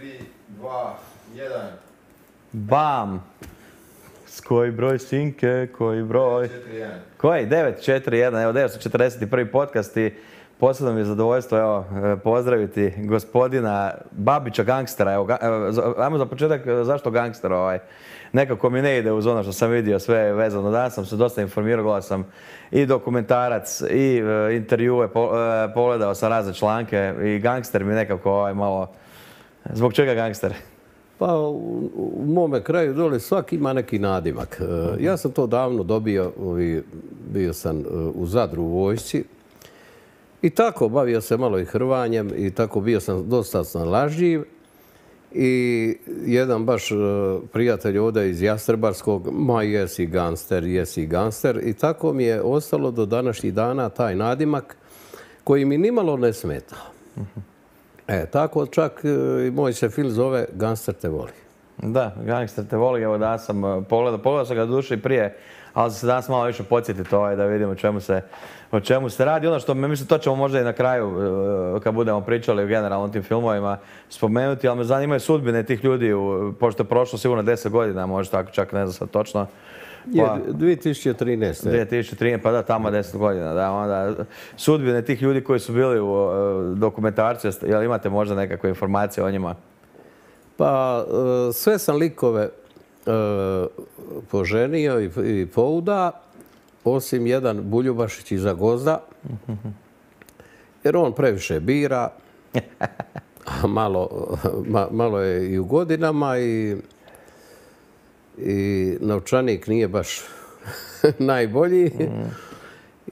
3, 2, 1. Bam! Koji broj sinke, koji broj... 4-1. Koji? 9-4-1, evo 941. podcast i posebno mi je zadovoljstvo evo, pozdraviti gospodina Babića gangstera. Evo, ajmo za početak, zašto gangster? Nekako mi ne ide uz ono što sam vidio sve vezano. Danas sam se dosta informirao, gledao sam i dokumentarac i intervjue, pogledao sam razne članke i gangster mi nekako malo... Zbog čega gangster? Pa u mome kraju dole svaki ima neki nadimak. Ja sam to davno dobio, bio sam u Zadru u vojsci i tako bavio se malo i hrvanjem i tako bio sam dosta snalažljiv. I jedan baš prijatelj ovdje iz Jastrebarskog, ma jesi gangster. I tako mi je ostalo do današnjih dana taj nadimak koji mi nimalo ne smeta. Tako čak i moj se film zove Gangster te voli. Da, Gangster te voli, evo da sam pogledao sam ga do duše i prije, ali se danas malo više podsjetiti da vidimo o čemu se radi. Ono što mislim, to ćemo možda i na kraju, kad budemo pričali o generalno tim filmovima, spomenuti, ali me zanimaju sudbine tih ljudi, pošto je prošlo sigurno 10 godina, možda tako čak ne znam sad točno. Je, 2013. 2013, pa da, tamo 10 godina. Da, onda, sudbine tih ljudi koji su bili u dokumentarcu, jel imate možda nekakve informacije o njima? Pa sve sam likove poženio i pouda, osim jedan Buljubašić iz Zagozda, jer on previše bira, malo je i u godinama i novčanik nije baš najbolji.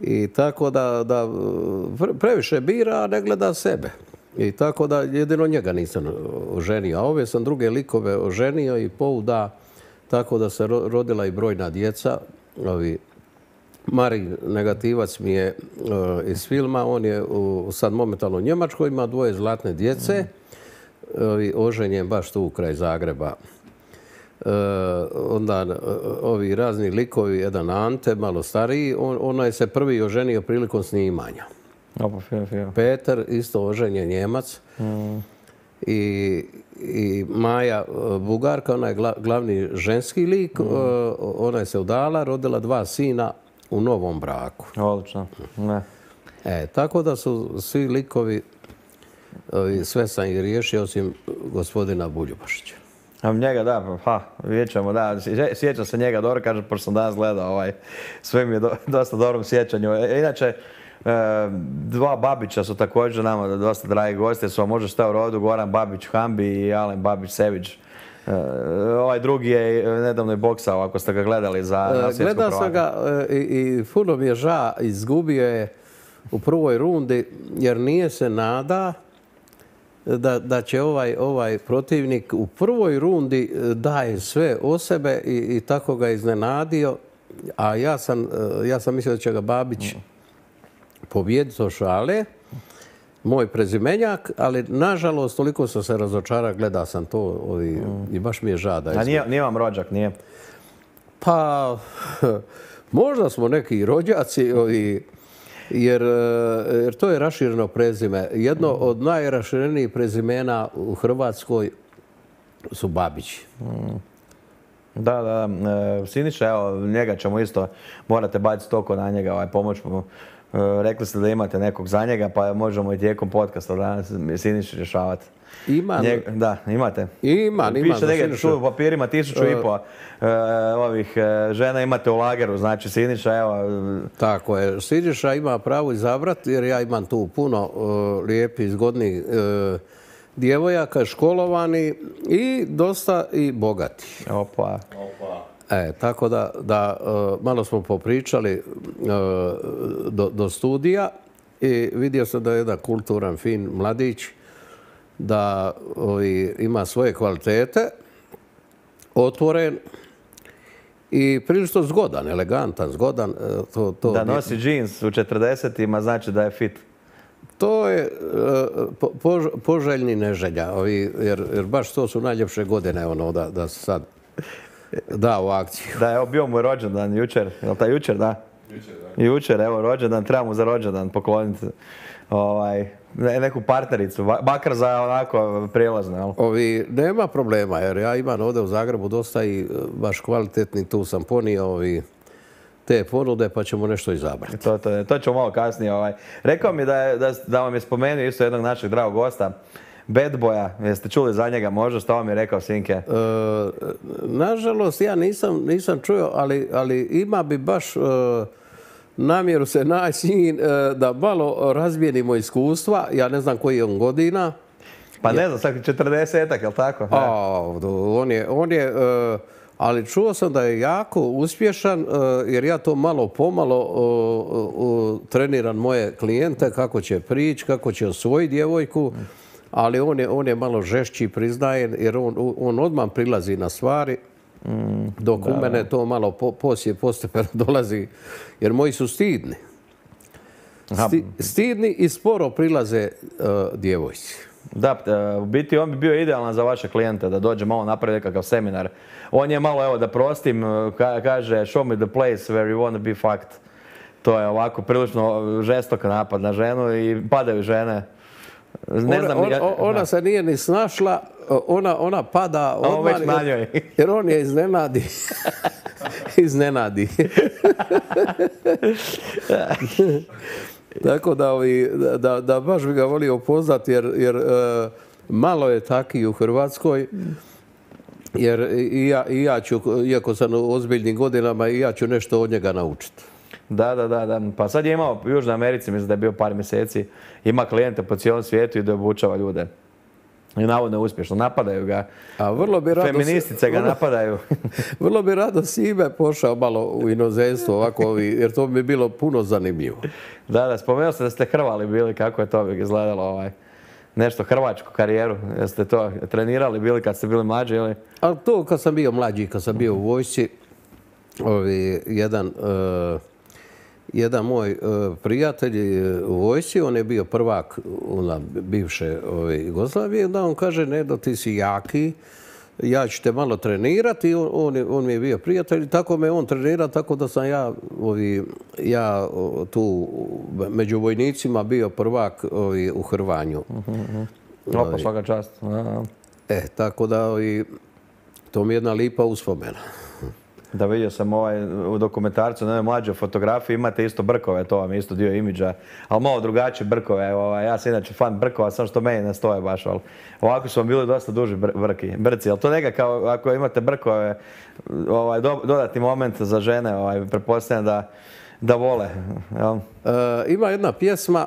I tako da previše bira, a ne gleda sebe. I tako da jedino njega nisam oženio. A ove sam druge likove oženio i pouda, tako da se rodila i brojna djeca. Mari negativac mi je iz filma, on je sad momentalno u Njemačkoj, ima 2 zlatne djece. Oženjen baš tu kraj Zagreba. Onda ovi razni likovi, jedan Ante, malo stariji, ona je se prvi oženio prilikom snimanja. Peter, isto oženjen Njemac. I Maja Bugarka, ona je glavni ženski lik, ona je se udala, rodila 2 sina u novom braku. Odlično. Tako da su svi likovi, sve sam ih riješio osim gospodina Buljubašića. Njega, da, vidjet ćemo, da, sjećam se njega dobro, kažem, pošto sam danas gledao, sve mi je dosta dobrom sjećanju. Inače, 2 Babića su također nama dosta dragi gosti, su vam možda šta u rodu, Goran Babić Hambi i Alen Babić Sević. Ovaj drugi je nedavno i boksao, ako ste ga gledali za svjetsko prvaka. Gledao sam ga i puno mi je ža, izgubio je u prvoj rundi, jer nije se nada da će ovaj protivnik u prvoj rundi daje sve o sebe i tako ga iznenadio. A ja sam mislio da će ga Babić pobijediti od šale, moj prezimenjak, ali nažalost toliko sam se razočarao, gledao sam to i baš mi je žada. A nije vam rođak, nije? Pa, možda smo neki rođaci, jer to je rašireno prezime. Jedno od najraširenijih prezimena u Hrvatskoj su Babići. Da. Siniša, evo, njega ćemo isto, morate baciti oko na njega, pomoć mu. Rekli ste da imate nekog za njega, pa možemo i tijekom podcasta danas Siniši rješavati. Imam. Da, imate? Imam. Piše negdje u papirima 1500 ovih žena imate u lageru, znači Siniša, evo... Tako je. Siniša ima pravo izabrati, jer ja imam tu puno lijepih, zgodnih djevojaka, školovani i dosta i bogati. Opa. Tako da malo smo popričali do studija i vidio sam da je jedan kulturan, fin mladić, da ima svoje kvalitete, otvoren i prilično zgodan, elegantan, zgodan. Da nosi džins u 40-ima znači da je fit. To je poželjni neželja, jer baš to su najljepše godine da se sad da u akciju. Da, evo bio mu je rođendan jučer, je li jučer, da? Jučer, evo rođendan, treba mu za rođendan pokloniti neku partnericu, makar za onako prijelazno, jel? Nema problema, jer ja imam ovdje u Zagrebu dosta i baš kvalitetni, tu sam ponio te ponude, pa ćemo nešto izabrati. To ćemo malo kasnije. Rekao mi da vam je spomenuo isto jednog našeg dragog gosta, Bad Boya. Jeste čuli za njega možda? Što vam je rekao, Sinke? Nažalost, ja nisam čuo, ali ima bi baš namjeru se naći da malo razmijenimo iskustva. Ja ne znam koji je on godina. Pa ne znam, sad 40-ak, jel tako? On je ali čuo sam da je jako uspješan, jer ja to malo pomalo treniram moje klijente kako će prići, kako će osvojiti djevojku, ali on je malo žešći, priznaje, jer on odmah prilazi na stvari, dok u mene to malo postepeno dolazi, jer moji su stidni. Stidni i sporo prilaze djevojci. Da, u biti on bi bio idealan za vaše klijente, da dođe malo napravi nekakav seminar. On je malo, evo da prostim, kaže show me the place where you want to be fucked. To je ovako prilično žestok napad na ženu i padaju žene. Ona se nije ni snašla, ona pada odmah, jer on je iznenadi. Tako da baš bi ga volio upoznati, jer malo je taki u Hrvatskoj, jer i ja ću, iako sam u ozbiljnim godinama, i ja ću nešto od njega naučiti. Da. Pa sad je imao u Južnoj Americi, mislim da je bio par mjeseci, ima klijente po cijelom svijetu i da obučava ljude. I navodno je uspješno. Napadaju ga. Feministice ga napadaju. Vrlo bi rado s ime pošao malo u inozemstvo, ovako, jer to bi mi bilo puno zanimljivo. Da, spomenuo ste da ste hrvali bili, kako je to izgledalo, nešto hrvačku karijeru. Jeste to trenirali bili kad ste bili mlađi ili? Ali to kad sam bio mlađi, kad sam bio u vojsci, jedan moj prijatelj u vojsci, on je bio prvak bivše Jugoslavije, da on kaže, Nedo, ti si jaki, ja ću te malo trenirati, on mi je bio prijatelj, tako me on trenira, tako da sam ja tu među vojnicima bio prvak u hrvanju. Opa, svaka čast. Tako da to mi je jedna lipa uspomena. Da, vidio sam u dokumentarcu na mlađoj fotografiji, imate isto brkove, to vam je isto dio imidža, ali malo drugačije brkove. Ja sam inače fan brkova, samo što meni ne stoje baš, ali ovako su vam bili dosta duži brci. Ali to nekako, ako imate brkove, dodatni moment za žene, pretpostavljam da vole. Ima jedna pjesma,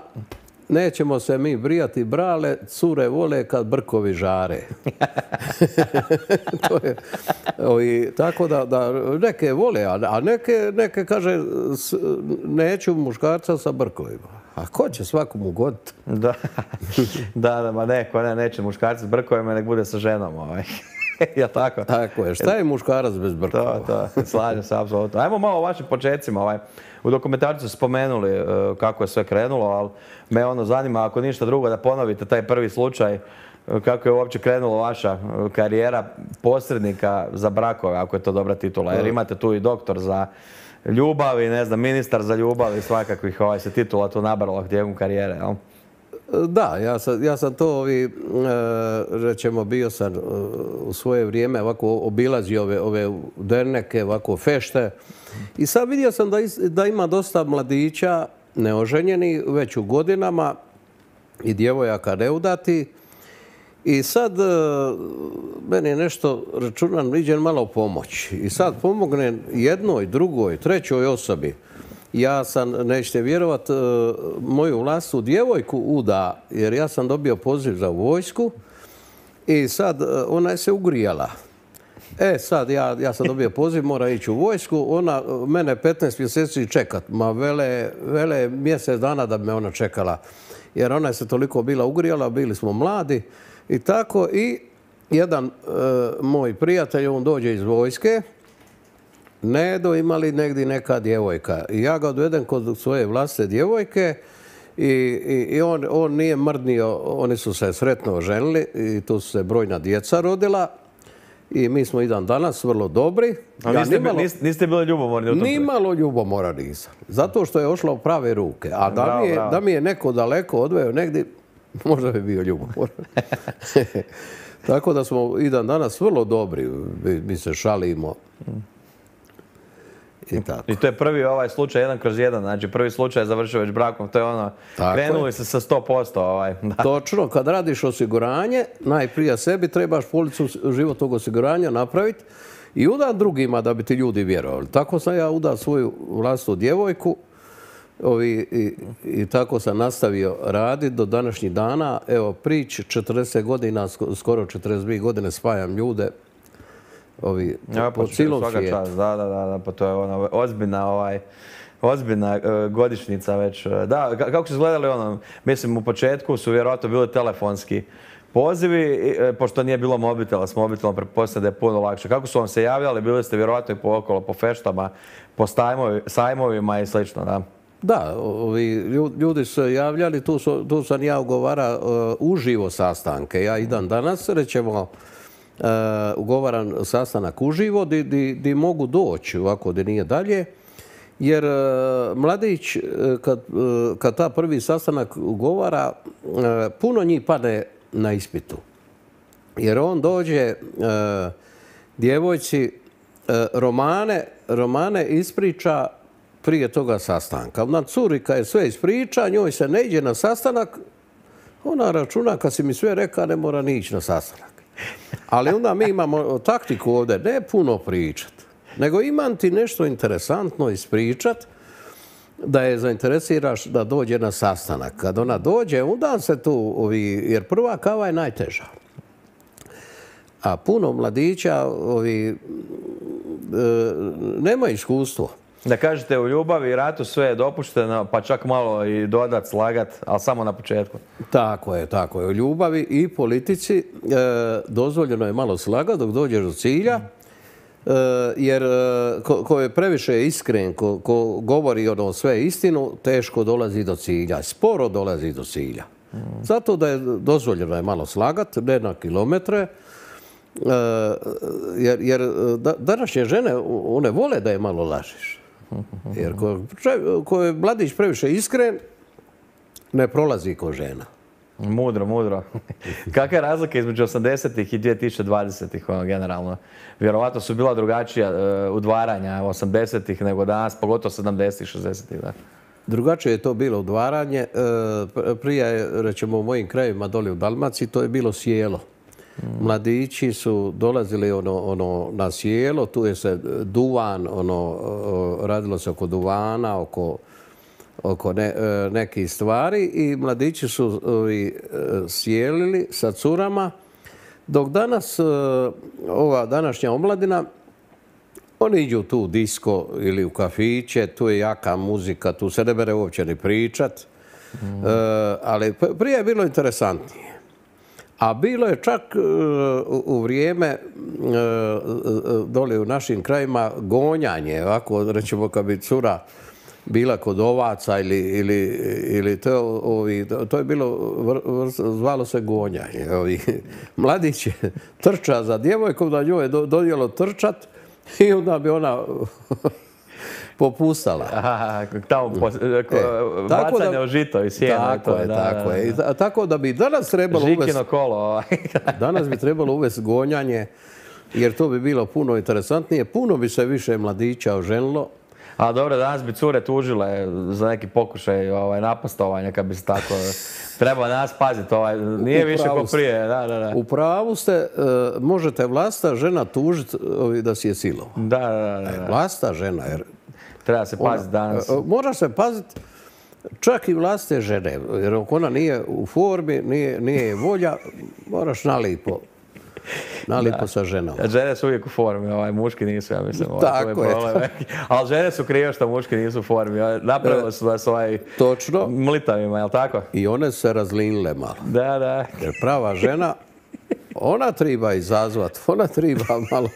nećemo se mi brijati brale, cure vole kad brkovi žare. Tako da neke vole, a neke kaže neću muškarca sa brkovima. A ko će svakom ugoditi? Da, ma neće muškarca s brkovima, nek bude sa ženom. Jel tako? Tako je. Šta je muškarac bez brkova? To, slažem se apsolutno. Ajmo malo o vašim početcima. U dokumentarcu ste spomenuli kako je sve krenulo, ali me zanima, ako ništa drugo, da ponovite taj prvi slučaj, kako je uopće krenula vaša karijera posrednika za brakove, ako je to dobra titula. Jer imate tu i doktor za ljubav i, ne znam, ministar za ljubav i svakakvih se titula tu nabrala tijekom karijere, jel? Da, ja sam to, rečemo, bio sam u svoje vrijeme ovako obilazio ove derneke, ovako fešte. I sad vidio sam da ima dosta mladića neoženjeni već u godinama i djevojaka neudati. I sad meni nešto računam, iđem malo pomoć. I sad pomognem jednoj, drugoj, trećoj osobi. Ja sam, nećete vjerovat, moju vlastnu djevojku uda, jer ja sam dobio poziv za vojsku i sad ona je se ugrijala. Sad ja sam dobio poziv, mora ići u vojsku, ona mene 15 mjeseci čekat. Ma vele mjesec dana da bi me ona čekala, jer ona je se toliko bila ugrijala, bili smo mladi i tako. I jedan moj prijatelj, on dođe iz vojske, Nedo, ima li negdje neka djevojka? I ja ga odvedem kod svoje vlastne djevojke i on nije mrdnio, oni su se sretno oženili i tu su se brojna djeca rodila i mi smo i dan danas vrlo dobri. Niste bili ljubomorni u tom? Nimalo ljubomora nisam, zato što je ošla u prave ruke. A da mi je neko daleko odveo negdje, Možda bi bio ljubomor. Tako da smo i dan danas vrlo dobri. Mi se šalimo. I tako. I to je prvi ovaj slučaj 1/1, znači prvi slučaj je završio već brakom, to je ono, Tako krenuli je. se sa 100%. Da. Točno, kad radiš osiguranje, najprije sebi trebaš policu životnog osiguranja napraviti i udat drugima da bi ti ljudi vjerovali. Tako sam ja udao svoju vlastitu djevojku i tako sam nastavio raditi do današnjih dana. Evo, prič 40 godina, skoro 42 godine spajam ljude po cijelom svijetu. Da, pa to je ono, ozbiljna godišnjica već. Da, kako su izgledali ono, mislim u početku su vjerojatno bili telefonski pozivi, pošto nije bilo mobitela, s mobitelom pretpostavljam da je puno lakše. Kako su vam se javljali, bili ste vjerojatno i okolo, po feštama, po sajmovima i slično, da? Da, ljudi su se javljali, tu sam ja ugovara uživo sastanke. Ja i dan danas, rećemo, ugovaran sastanak uživo, di mogu doći ovako, di nije dalje. Jer mladić, kad ta prvi sastanak ugovara, puno njih padne na ispitu. Jer on dođe djevojci romane ispriča prije toga sastanka. Ona curi kad je sve ispriča, njoj se ne ide na sastanak, ona računa kad si mi sve reka ne mora ni ići na sastanak. Ali onda mi imamo taktiku ovdje, ne puno pričat, nego imam ti nešto interesantno ispričat da je zainteresiraš da dođe na sastanak. Kad ona dođe, onda se tu, jer prva kava je najteža. A puno mladića nema iskustvo. Da kažete u ljubavi i ratu sve je dopušteno, pa čak malo i dodat, slagat, ali samo na početku. Tako je. U ljubavi i politici dozvoljeno je malo slagat dok dođeš do cilja, jer ko je previše iskren, ko govori ono sve istinu, teško dolazi do cilja, sporo dolazi do cilja. Zato da je dozvoljeno je malo slagat, ne na kilometre, jer današnje žene, one vole da je malo lažiš. Jer ko je mladić previše iskren, ne prolazi ko žena. Mudro. Kakva je razlika između 80-ih i 2020-ih generalno? Vjerovatno su bila drugačija udvaranja 80-ih nego danas, pogotovo 70-ih, 60-ih. Drugačije je to bilo udvaranje. Prije, rećemo u mojim krajevima dole u Dalmaciji, to je bilo sjelo. Mladići su dolazili na sjelo, tu je se duvan, radilo se oko duvana, oko nekih stvari i mladići su sjelili sa curama, dok danas ova današnja omladina, oni iđu tu u disko ili u kafiće, tu je jaka muzika, tu se ne bere uopće ni pričat, ali prije je bilo interesantnije. A bilo je čak u vrijeme dole u našim krajima gonjanje, ovako rećemo kad bi cura bila kod ovaca ili to je bilo, zvalo se gonjanje. Mladić je trča za djevojkom, da njoj je dodjelo trčat i onda bi ona popustala. Tamo bacanje o žito i sjeno. Tako je. Tako da bi danas trebalo uvesti... Žikino kolo. Danas bi trebalo uvesti gonjanje, jer to bi bilo puno interesantnije. Puno bi se više mladića oženilo. A dobro, danas bi cure tužile za neki pokušaj napastovanja, kad bi se tako... Treba nas paziti, nije više ko prije. U pravu ste, možete vlasta žena tužiti da si je silo. Da. Vlasta žena, jer... Treba se paziti danas. Mora se paziti čak i vlastite žene, jer ako ona nije u formi, nije volja, moraš nalipo sa ženom. Žene su uvijek u formi, muški nisu, ja mislim. Tako je. Ali žene su krive što muški nisu u formi. Napravili su vas mlitavima, je li tako? I one se razlinile malo. Da. Jer prava žena, ona treba izazvat, ona treba malo...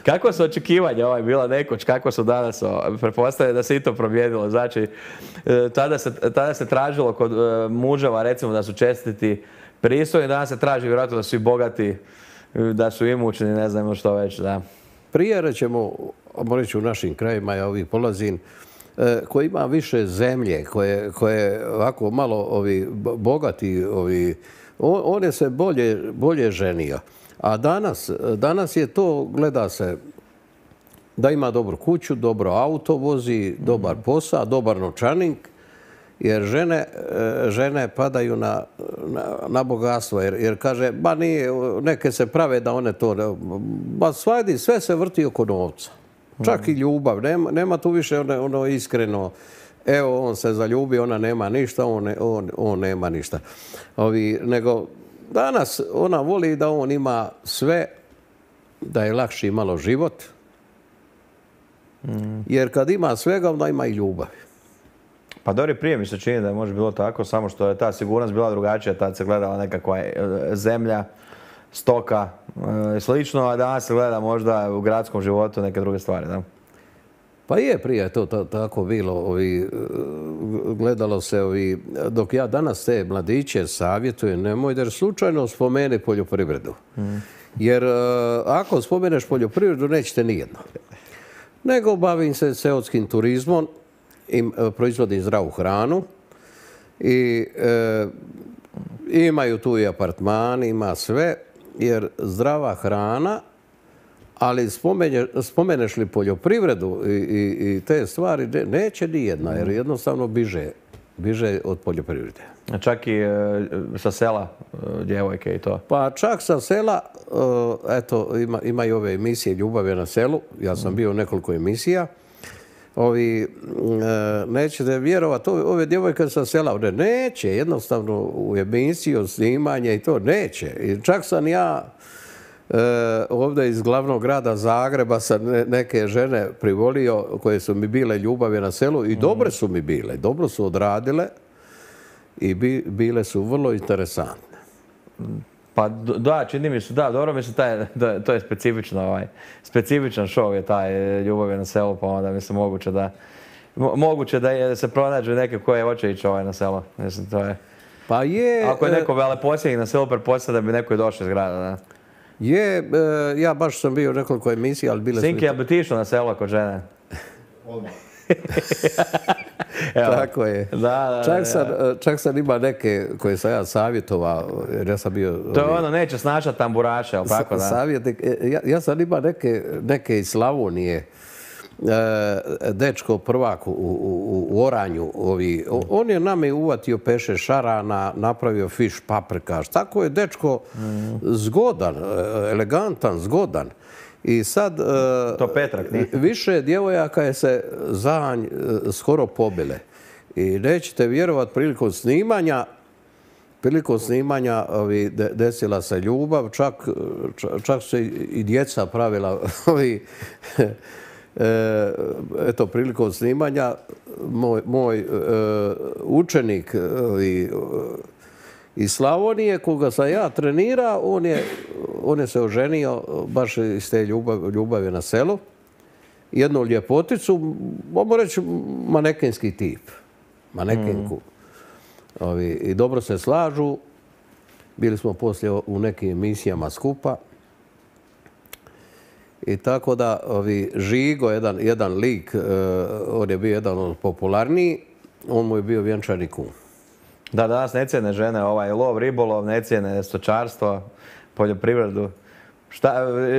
Kako su očekivanja bila nekoć, kako su danas? Pretpostavljam da se i to promijenilo. Znači, tada se tražilo kod muževa, recimo, da su čestiti pristojni, danas se traži vjerojatno da su i bogati, da su imućni, ne znam što već. Da. Prije, rećemo, reći u našim krajima, ja polazim, koji ima više zemlje, koje ovako malo bogati, on je se bolje ženio. A danas je to, gleda se da ima dobru kuću, dobro auto vozi, dobar posao, dobar novčanik, jer žene padaju na bogatstvo. Jer kaže, ba nije, neke se prave da one to, ba svadi, sve se vrti oko novca. Čak i ljubav, nema tu više ono iskreno, evo on se zaljubi, ona nema ništa, on nema ništa. Nego danas ona voli da on ima sve, da je lakši malo život, jer kad ima svega, onda ima i ljubav. Pa dobro, prije mi se čini da je možda bilo tako, samo što je ta sigurnost bila drugačija, tad se gledala nekakva zemlja, stoka i slično, a danas se gleda možda u gradskom životu neke druge stvari, da? Pa je prije to tako bilo. Gledalo se, dok ja danas te mladiće savjetujem, nemoj da slučajno spomeni poljoprivredu. Jer ako spomeneš poljoprivredu, nećete nijedno. Nego bavim se seoskim turizmom, proizvodim zdravu hranu i imaju tu i apartmani, ima sve, jer zdrava hrana, ali spomeneš li poljoprivredu i te stvari, neće nijedna, jer jednostavno biže od poljoprivrede. Čak i sa sela djevojke i to? Pa čak sa sela, eto, imaju ove emisije Ljubav je na selu, ja sam bio u nekoliko emisija. Nećete vjerovati, ove djevojke sa sela, one neće, jednostavno u emisiju, snimanje i to neće. I čak sam ja ovdje iz glavnog grada Zagreba sam neke žene privolio koje su mi bile ljubavi na selu i dobre su mi bile, dobro su odradile i bile su vrlo interesantne. Pa da, čini mi se, da, dobro mi se to je specifičan show je taj Ljubav je na selu, pa onda mislim moguće da se pronađu neke koje hoće ići na selo. Mislim, to je... Pa je... Ako je neko veleposjednik na selu, pretpostavlja da bi neko i došao iz grada, da? Je, ja baš sam bio u nekoliko emisija, ali bile su... Sinki, jel bi ti išao na selo kod žene? Odmah. Tako je. Čak sam ima neke koje sam ja savjetovao, jer ja sam bio... To je ono, neće snašati tamburaše, ali tako da? Savjetnik. Ja sam ima neke iz Slavonije, dečko prvak u Oranju. On je nama uvatio peše šarana, napravio fiš paprikaš. Tako je dečko zgodan, elegantan, zgodan. I sad više djevojaka je se za nj skoro pobile. I nećete vjerovati, prilikom snimanja desila se ljubav, čak se i djeca pravila eto, prilikom snimanja moj učenik iz Slavonije, koga sam ja trenirao, on je se oženio baš iz te ljubavi na selu. Jednu ljepoticu, mogu reći manekenski tip. Manekenku. I dobro se slažu. Bili smo poslije u nekim emisijama skupa. I tako da Žigo, jedan lik, on je bio jedan od popularniji, on mu je bio vjenčani kum. Da, danas ne cijene žene lov, ribolov, ne cijene stočarstvo, poljoprivredu.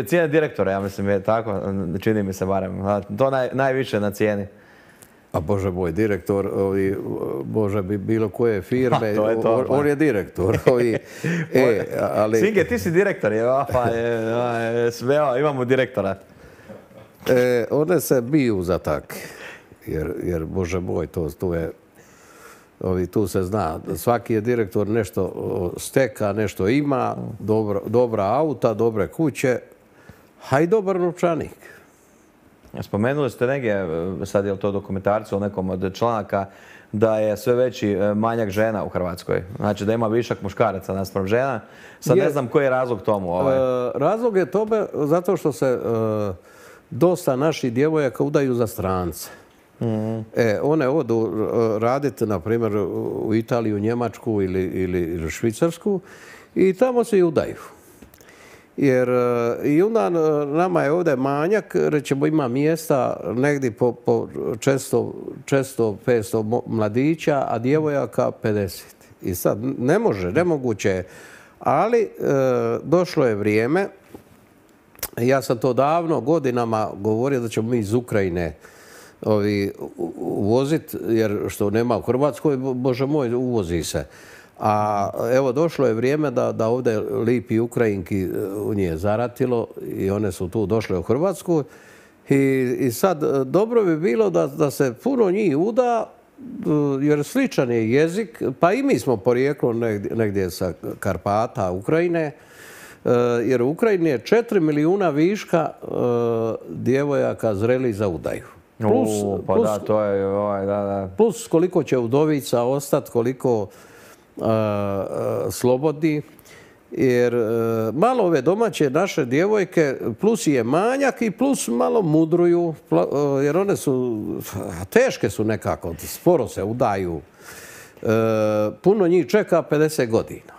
Cijene direktora, ja mislim, je tako, čini mi se barem. To najviše na cijeni. A Bože moj, direktor, Bože, bilo koje firme, on je direktor. Sinke, ti si direktor, imamo direktora. One se biju za tak, jer Bože moj, to je... Tu se zna, svaki je direktor nešto steka, nešto ima, dobra auta, dobre kuće, a i dobar novčanik. Spomenuli ste negdje, sad je li to dokumentarcu ili nekom od članaka, da je sve veći manjak žena u Hrvatskoj. Znači da ima višak muškaraca naspram žena. Sad ne znam koji je razlog tomu. Razlog je tome zato što se dosta naših djevojaka udaju za strance. One odu raditi, na primjer, u Italiju, Njemačku ili Švicarsku i tamo se i udaju. Jer i onda nama je ovdje manjak, rećemo ima mjesta negdje po često 500 mladića, a djevojaka 50. I sad nemoguće je. Ali došlo je vrijeme, ja sam to davno godinama govorio da ćemo mi iz Ukrajine uvoziti, jer što nema u Hrvatskoj, bože moj, uvozi se. A evo došlo je vrijeme da ovdje lipi Ukrajinki u nje zaratilo i one su tu došle u Hrvatsku. I sad dobro bi bilo da se puno njih uda, jer sličan je jezik, pa i mi smo porijeklom negdje sa Karpata, Ukrajine, jer u Ukrajini je 4 milijuna viška djevojaka zrelih za udaju. Plus koliko će udovica ostati, koliko slobodni, jer malo ove domaće naše djevojke plus je manjak i plus malo mudruju, jer one su, teške su nekako, sporo se udaju. Puno njih čeka 50 godina.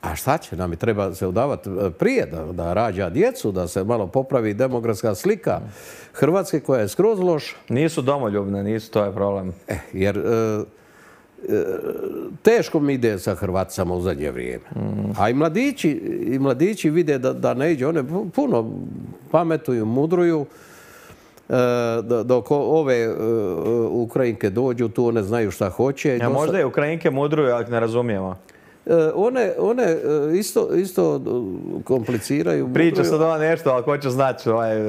A šta će nam? Treba se udavati prije da rađa djecu, da se malo popravi demografska slika Hrvatske koja je skroz loša. Nisu domoljubne, to je problem. Jer teško mi ide sa Hrvaticama u zadnje vrijeme. A i mladići vide da ne iđe. One puno pametuju, mudruju. Dok ove Ukrajinke dođu, tu one znaju šta hoće. A možda je Ukrajinke mudruju, ali ne razumijemo. One isto kompliciraju. Priča sad ova nešto, ali ko će znati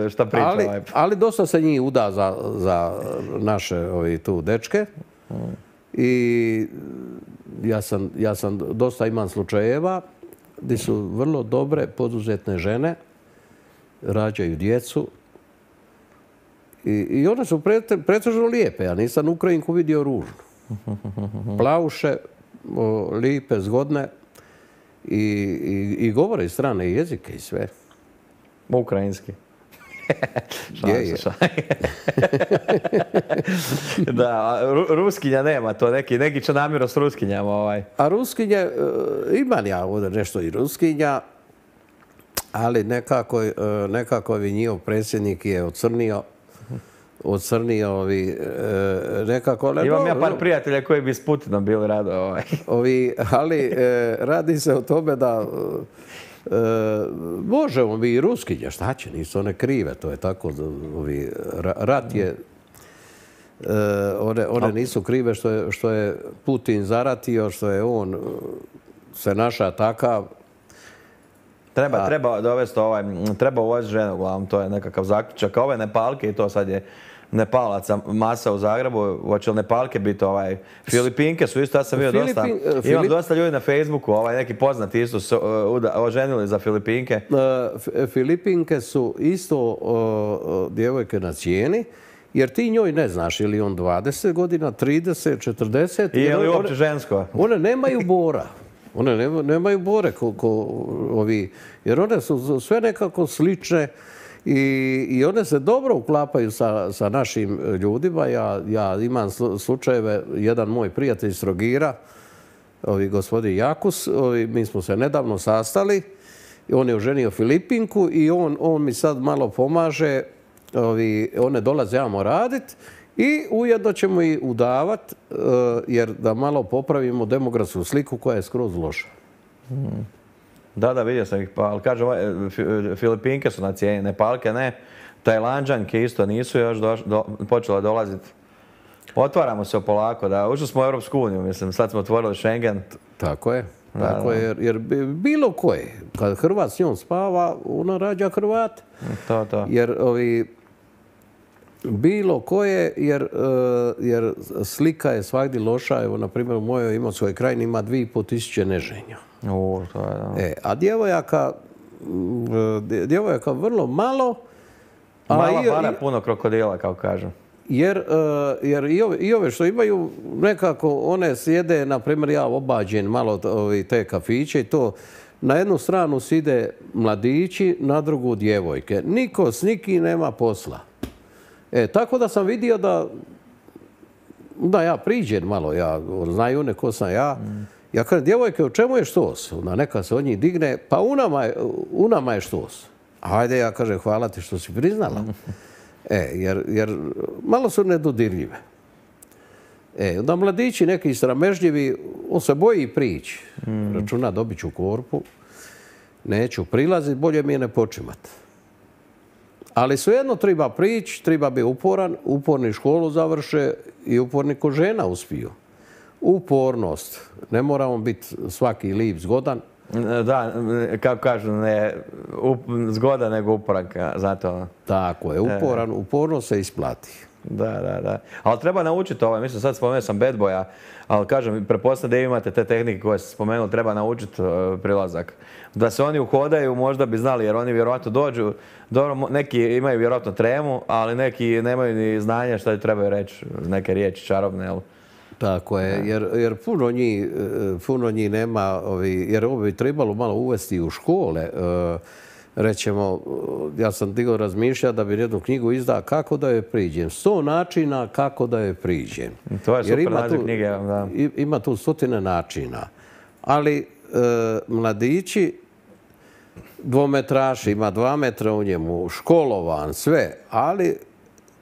šta priča. Ali dosta se njih uda za naše tu dečke. I ja sam dosta imam slučajeva gdje su vrlo dobre poduzetne žene, rađaju djecu i one su pretežno lijepe. Ja nisam Ukrajinku vidio ružnu. Plavuše, lijepe, zgodne i govore strane jezike i sve. Ukrajinski. Da, ruskinja nema to, neki će namjerno s ruskinjama. A ruskinje, imam ja ovdje nešto i ruskinja, ali nekako njihov predsjednik je ocrnio nekako... Imam ja par prijatelja koji bi s Putinom bili rado. Ali radi se o tome da možemo mi i ruskinje, šta će, nisu one krive, to je tako, rat je, one nisu krive što je Putin zaratio, što je on se naša takav. Treba dovesti treba uvoziti ženu, uglavnom, to je nekakav zaključak. Ove Nepalke, i to sad je Nepalaca masa u Zagrebu, hoće li Nepalke biti Filipinke su isto, ja sam vidio dosta, imam dosta ljudi na Facebooku, neki poznati isto su oženili za Filipinke. Filipinke su isto djevojke na cijeni, jer ti njoj ne znaš ili on 20 godina, 30, 40. I je li uopće žensko? One nemaju bora. One nemaju bore jer one su sve nekako slične i one se dobro uklapaju sa našim ljudima. Ja imam slučajeve, jedan moj prijatelj iz Trogira, gospodin Jakus, mi smo se nedavno sastali, on je oženio Filipinku i on mi sad malo pomaže, one dolaze jamo raditi i ujedno ćemo i udavati, jer da malo popravimo demografsku sliku koja je skroz loša. Da, vidio sam ih, ali kažem, Filipinke su na cijeni, Nepalke ne, Tajlanđanke isto nisu još počele dolaziti. Otvaramo se polako, da, ušli smo u Europsku uniju, mislim, sad smo otvorili Schengen. Tako je, jer bilo koje, kad Hrvat s njom spava, ona rađa Hrvat. Jer bilo koje, jer slika je svagdje loša. Evo, na primjer, u mojoj Imotskoj krajini ima 2500 neženja. A djevojaka vrlo malo. Mala para, puno krokodila, kao kažem. Jer i ove što imaju, nekako one sjede, na primjer, ja obađen malo te kafiće i to, na jednu stranu side mladići, na drugu djevojke. Niko s nikim nema posla. Tako da sam vidio da ja priđem malo, znaju one ko sam ja, Ja kažem, djevojke, u čemu je štos? Ona neka se od njih digne, pa u nama je štos. Ajde, ja kažem, hvala ti što si priznala. Jer malo su nedodirljive. Onda mladići neki sramežljivi, on se boji prići. Računa, dobit ću korpu, neću prilaziti, bolje mi je ne počimat. Ali svejedno treba prići, treba biti uporan, uporni školu završe i uporni ko žena uspiju. Upornost. Ne moramo biti svaki lip zgodan. Da, kako kažu, ne zgoda nego uporan, zato. Tako je, uporno se isplati. Da. Ali treba naučiti ovo. Mislim, sad spomenuo sam Bad Boya, ali kažem, pretpostavljam da imate te tehnike koje ste spomenuli, treba naučiti prilazak. Da se oni uhodaju, možda bi znali, jer oni vjerojatno dođu, dobro, neki imaju vjerojatno tremu, ali neki nemaju ni znanja šta trebaju reći, neke riječi čarobne, jel? Tako je, jer puno njih nema, jer ovo bi trebalo malo uvesti u škole. Rećemo, ja sam digao razmišljati da bi jednu knjigu izdao kako da joj priđem. 100 načina kako da joj priđem. To je super naziv knjige, da. Ima tu 100 načina. Ali mladići, dvometraš, ima 2 metra u njemu, školovan, sve, ali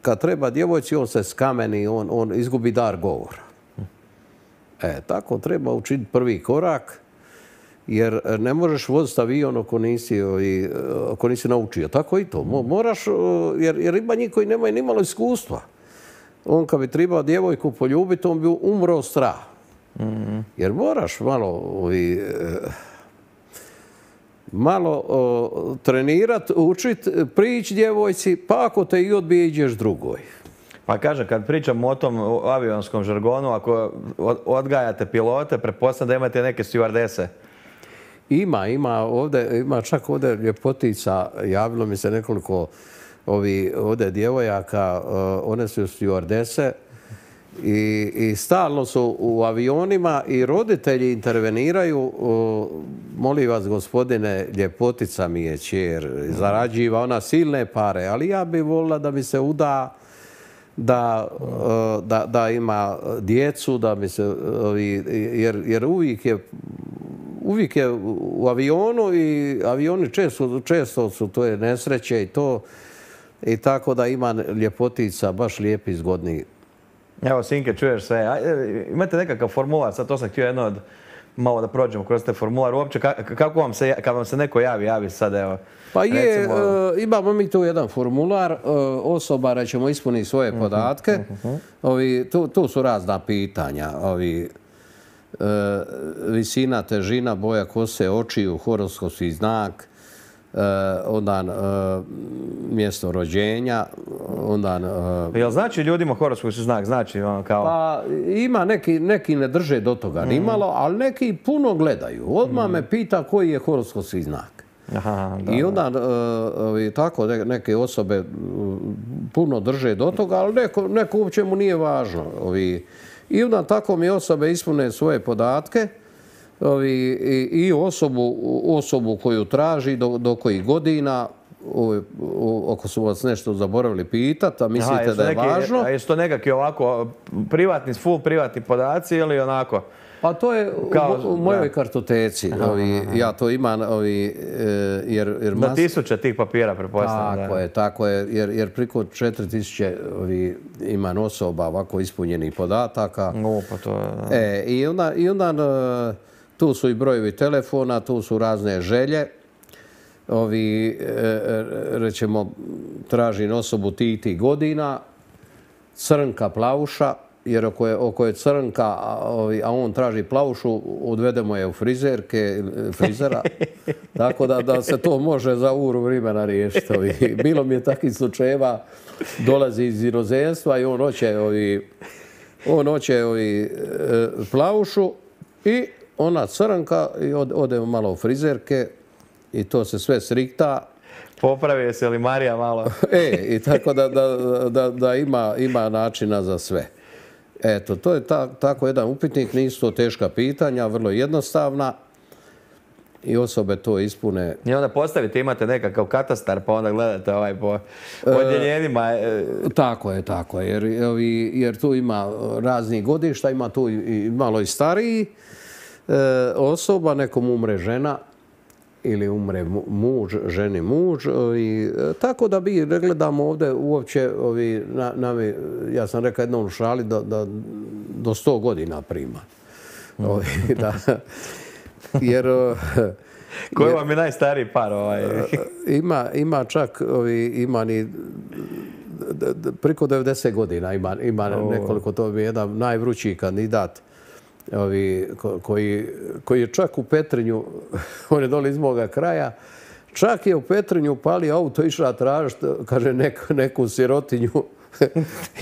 kad treba djevojci, on se skameni, on izgubi dar govora. Tako treba učiniti prvi korak, jer ne možeš voziti avion ako nisi naučio. Tako i to. Moraš, jer ima njih koji nemaju nimalo iskustva. On kad bi trebao djevojku poljubiti, on bi umro od straha. Jer moraš malo trenirati, učiti, prići djevojci, pa ako te i odbije, ideš drugoj. Pa kažem, kad pričamo o tom avionskom žargonu, ako odgajate pilote, pretpostavljam da imate neke stewardese. Ima čak ovdje ljepotica, javilo mi se nekoliko ovdje djevojaka, one su stewardese i stalno su u avionima i roditelji interveniraju. Molim vas, gospodine, ljepotica mi je kćer, zarađiva ona silne pare, ali ja bih volila da mi se uda, da ima djecu, da mi se, jer uvijek je u avionu i avioni često su to je nesreće i to i tako da ima ljepotica, baš lijepi, zgodni. Evo, Sinke, čuješ sve. Imate nekakav formular, sad to sam htio jedno malo da prođemo kroz te formular. Uopće, kako vam se, kad vam se neko javi sad, evo. Pa je, imamo mi tu jedan formular, osoba, rećemo, ispuni svoje podatke. Tu su razna pitanja. Visina, težina, boja kose, očiju, horoskopski znak, onda mjesto rođenja, onda... Jel znači ljudima horoskopski znak? Znači ono kao... Pa ima neki ne drže do toga nimalo, ali neki puno gledaju. Odmah me pita koji je horoskopski znak. I onda tako neke osobe puno drže do toga, ali neko uopće mu nije važno. I onda tako mi osobe ispune svoje podatke i osobu koju traži, do kojih godina, ako su vas nešto zaboravili pitati, a mislite da je važno. A jesu to nekakvi ovako full privatni podaci ili onako? Pa to je u mojoj kartoteci. Ja to imam, jer... Na tisuće tih papira, pretpostavljam. Tako je, jer priko 4000 imam osoba ovako ispunjenih podataka. Pa to je... I onda tu su i brojevi telefona, tu su razne želje. Rećemo, tražim osobu tih godina, crnka, plavuša, jer ako je crnka, a on traži plavušu, odvedemo je u frizera. Tako da se to može za uru vremena riješiti. Bilo mi je takvih slučajeva, dolazi iz inozemstva i on hoće plavušu i ona crnka i ode malo u frizerke i to se sve srikta. Popravi se li Marija malo? I tako da ima načina za sve. Eto, to je tako jedan upitnik, nisu to teška pitanja, vrlo jednostavna i osobe to ispune. I onda postavite, imate nekakav katastar pa onda gledate po odjeljenjima. Tako je, jer tu ima raznih godišta, ima tu i malo i stariji. osoba, nekom umre žena ili umre muž, ženi muž. I, tako da mi ne gledamo ovdje uopće, ja sam rekao jednom u šali da do 100 godina prima. Jer... Koji vam je najstariji par? Ima čak, ima ni preko 90 godina, ima nekoliko, to je jedan najvrućiji kandidat koji je čak u Petrinju, on je dole iz moga kraja, čak je u Petrinju upalio auto, išla tražiti, kaže, neku sirotinju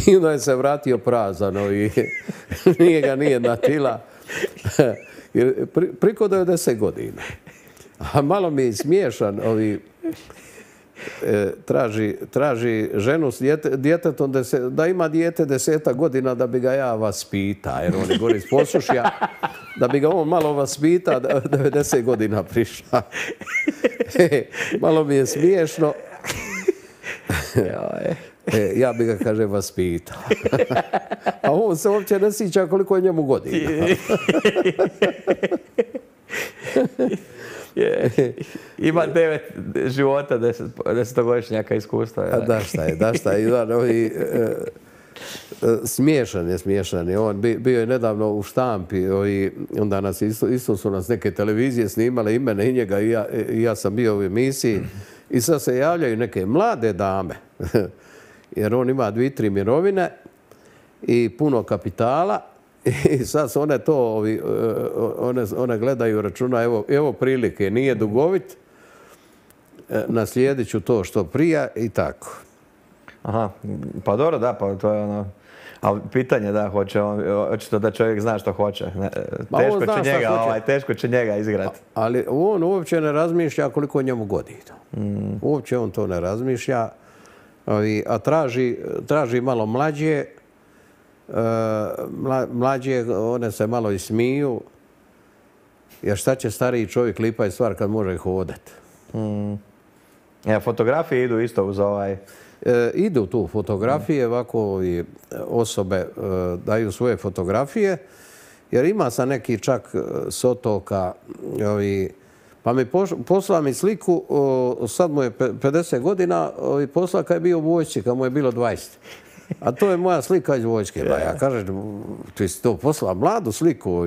i onda je se vratio prazan i nije ga nijedna tila. Priko 90 godina. A malo mi je smiješan, traži ženu s djetetom, da ima dijete 10 godina da bi ga ja vaspita, jer on je gore iz Posušja, da bi ga on malo vaspita, 90 godina prišla. Malo mi je smiješno. Ja bi ga, kaže, vaspitao. A on se uopće ne sjeća koliko je njemu godina. Ima 9 života, 10-godišnjaka iskustva. Da šta je. Smiješan je. On bio je nedavno u štampi i onda nas isto su nas neke televizije snimale, i mene i njega, i ja sam bio u emisiji. I sad se javljaju neke mlade dame, jer on ima 2-3 mirovine i puno kapitala. I sad su one to, one gledaju, računa, evo prilike, nije dugovit, naslijedit ću to što prija i tako. Aha, pa dobro, da, pa to je ono... Ali pitanje da, očito da čovjek zna što hoće. Teško će njega igrati. Ali on uopće ne razmišlja koliko njemu godina. Uopće on to ne razmišlja, a traži malo mlađe. Mlađe, one se malo i smiju, jer šta će stariji čovjek lipa je stvar kad može hodati. Fotografije idu isto uz ovaj... Idu tu fotografije, ovako osobe daju svoje fotografije, jer ima sa neki čak s otoka, pa mi poslala mi sliku, sad mu je 50 godina, poslala kad je bio u vojsci, kad mu je bilo 20. A to je moja slika iz vojske. Ja kažem, ti si to poslala mladu sliku.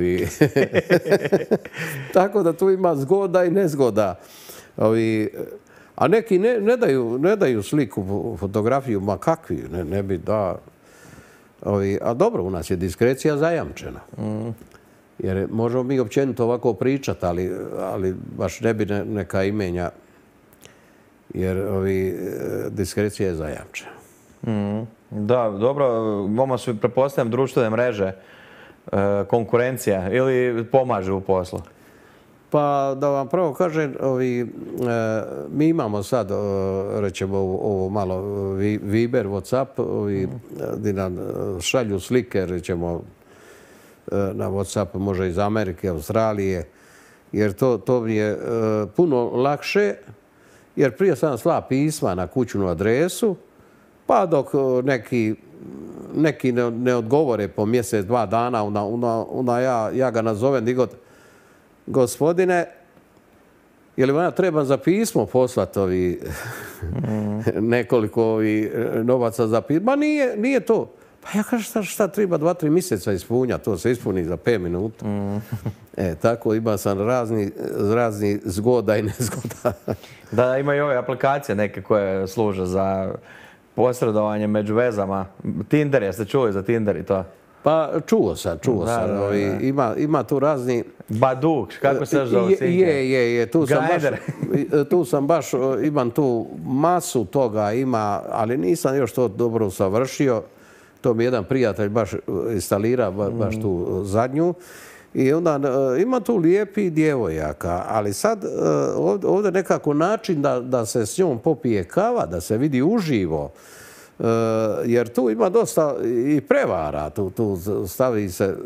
Tako da tu ima zgoda i nezgoda. A neki ne daju sliku, fotografiju, ma kakvi, ne bi da... A dobro, u nas je diskrecija zajamčena. Jer možemo mi općenito ovako pričati, ali baš ne bi neka imenja, jer diskrecija je zajamčena. Da, dobro, vama su, pretpostavljam, društvene mreže, konkurencija ili pomažu u poslu? Pa da vam prvo kažem, mi imamo sad, rećemo, ovo malo Viber, Whatsapp, gdje nam šalju slike, rećemo, na Whatsapp može iz Amerike, Australije, jer to mi je puno lakše, jer prije sam slao pisma na kućnu adresu, pa dok neki ne odgovore po mjesec, 2 dana, onda ja ga nazovem digod, gospodine, je li vam ja trebam za pismo poslati nekoliko novaca za pismo? Ma nije to. Pa ja kažem šta treba 2-3 mjeseca ispunja, to se ispuni za 5 minuta. Tako ima sam razni zgoda i nezgoda. Da, ima i ove aplikacije neke koje služe za posredovanje među vezama. Tinder, jeste čuli za Tinder i to? Pa čuo sam. Ima tu razni... Baduk, kako se zove? Je. Tu sam baš, imam tu masu toga, ali nisam još to dobro savršio. To mi jedan prijatelj baš instalira, baš tu zadnju. I onda ima tu lijepi djevojaka, ali sad ovdje nekako način da se s njom popije kava, da se vidi uživo, jer tu ima dosta i prevara, tu stavi se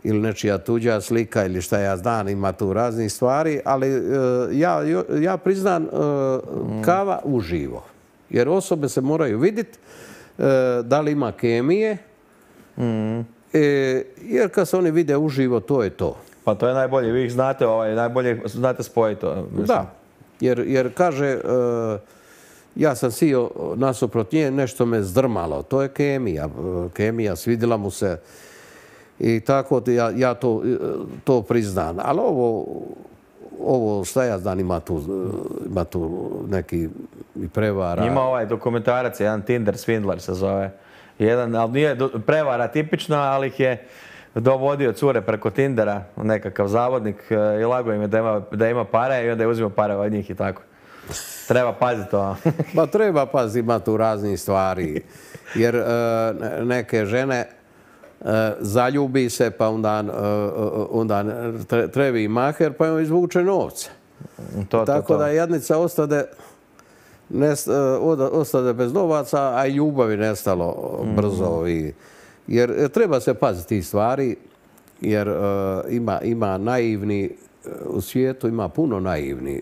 ili nečija tuđa slika ili šta ja znam, ima tu raznih stvari, ali ja priznam kava uživo, jer osobe se moraju vidjeti da li ima kemije, jer kad se oni vide uživo, to je to. Pa to je najbolje, vi ih znate, najbolje znate spojiti to. Mislim. Da, jer kaže, ja sam sio nasuprot nje, nešto me zdrmalo. To je kemija, svidjela mu se i tako ja to priznam. Ali ovo šta ja znam, ima tu neki prevara. Ima ovaj dokumentarac, jedan Tinder Swindler se zove. Ali nije prevara tipična, ali ih je dovodio cure preko Tindera, nekakav zavodnik i lago im je da ima pare i onda je uzimao pare od njih i tako. Treba paziti to. Pa treba paziti, ima tu raznih stvari. Jer neke žene zaljubi se, pa onda trebi maher, pa joj izvuče novce. Tako da jadnica ostade bez novaca, a i ljubavi nestalo brzo. Jer treba se paziti tih stvari, jer ima naivni, u svijetu ima puno naivni.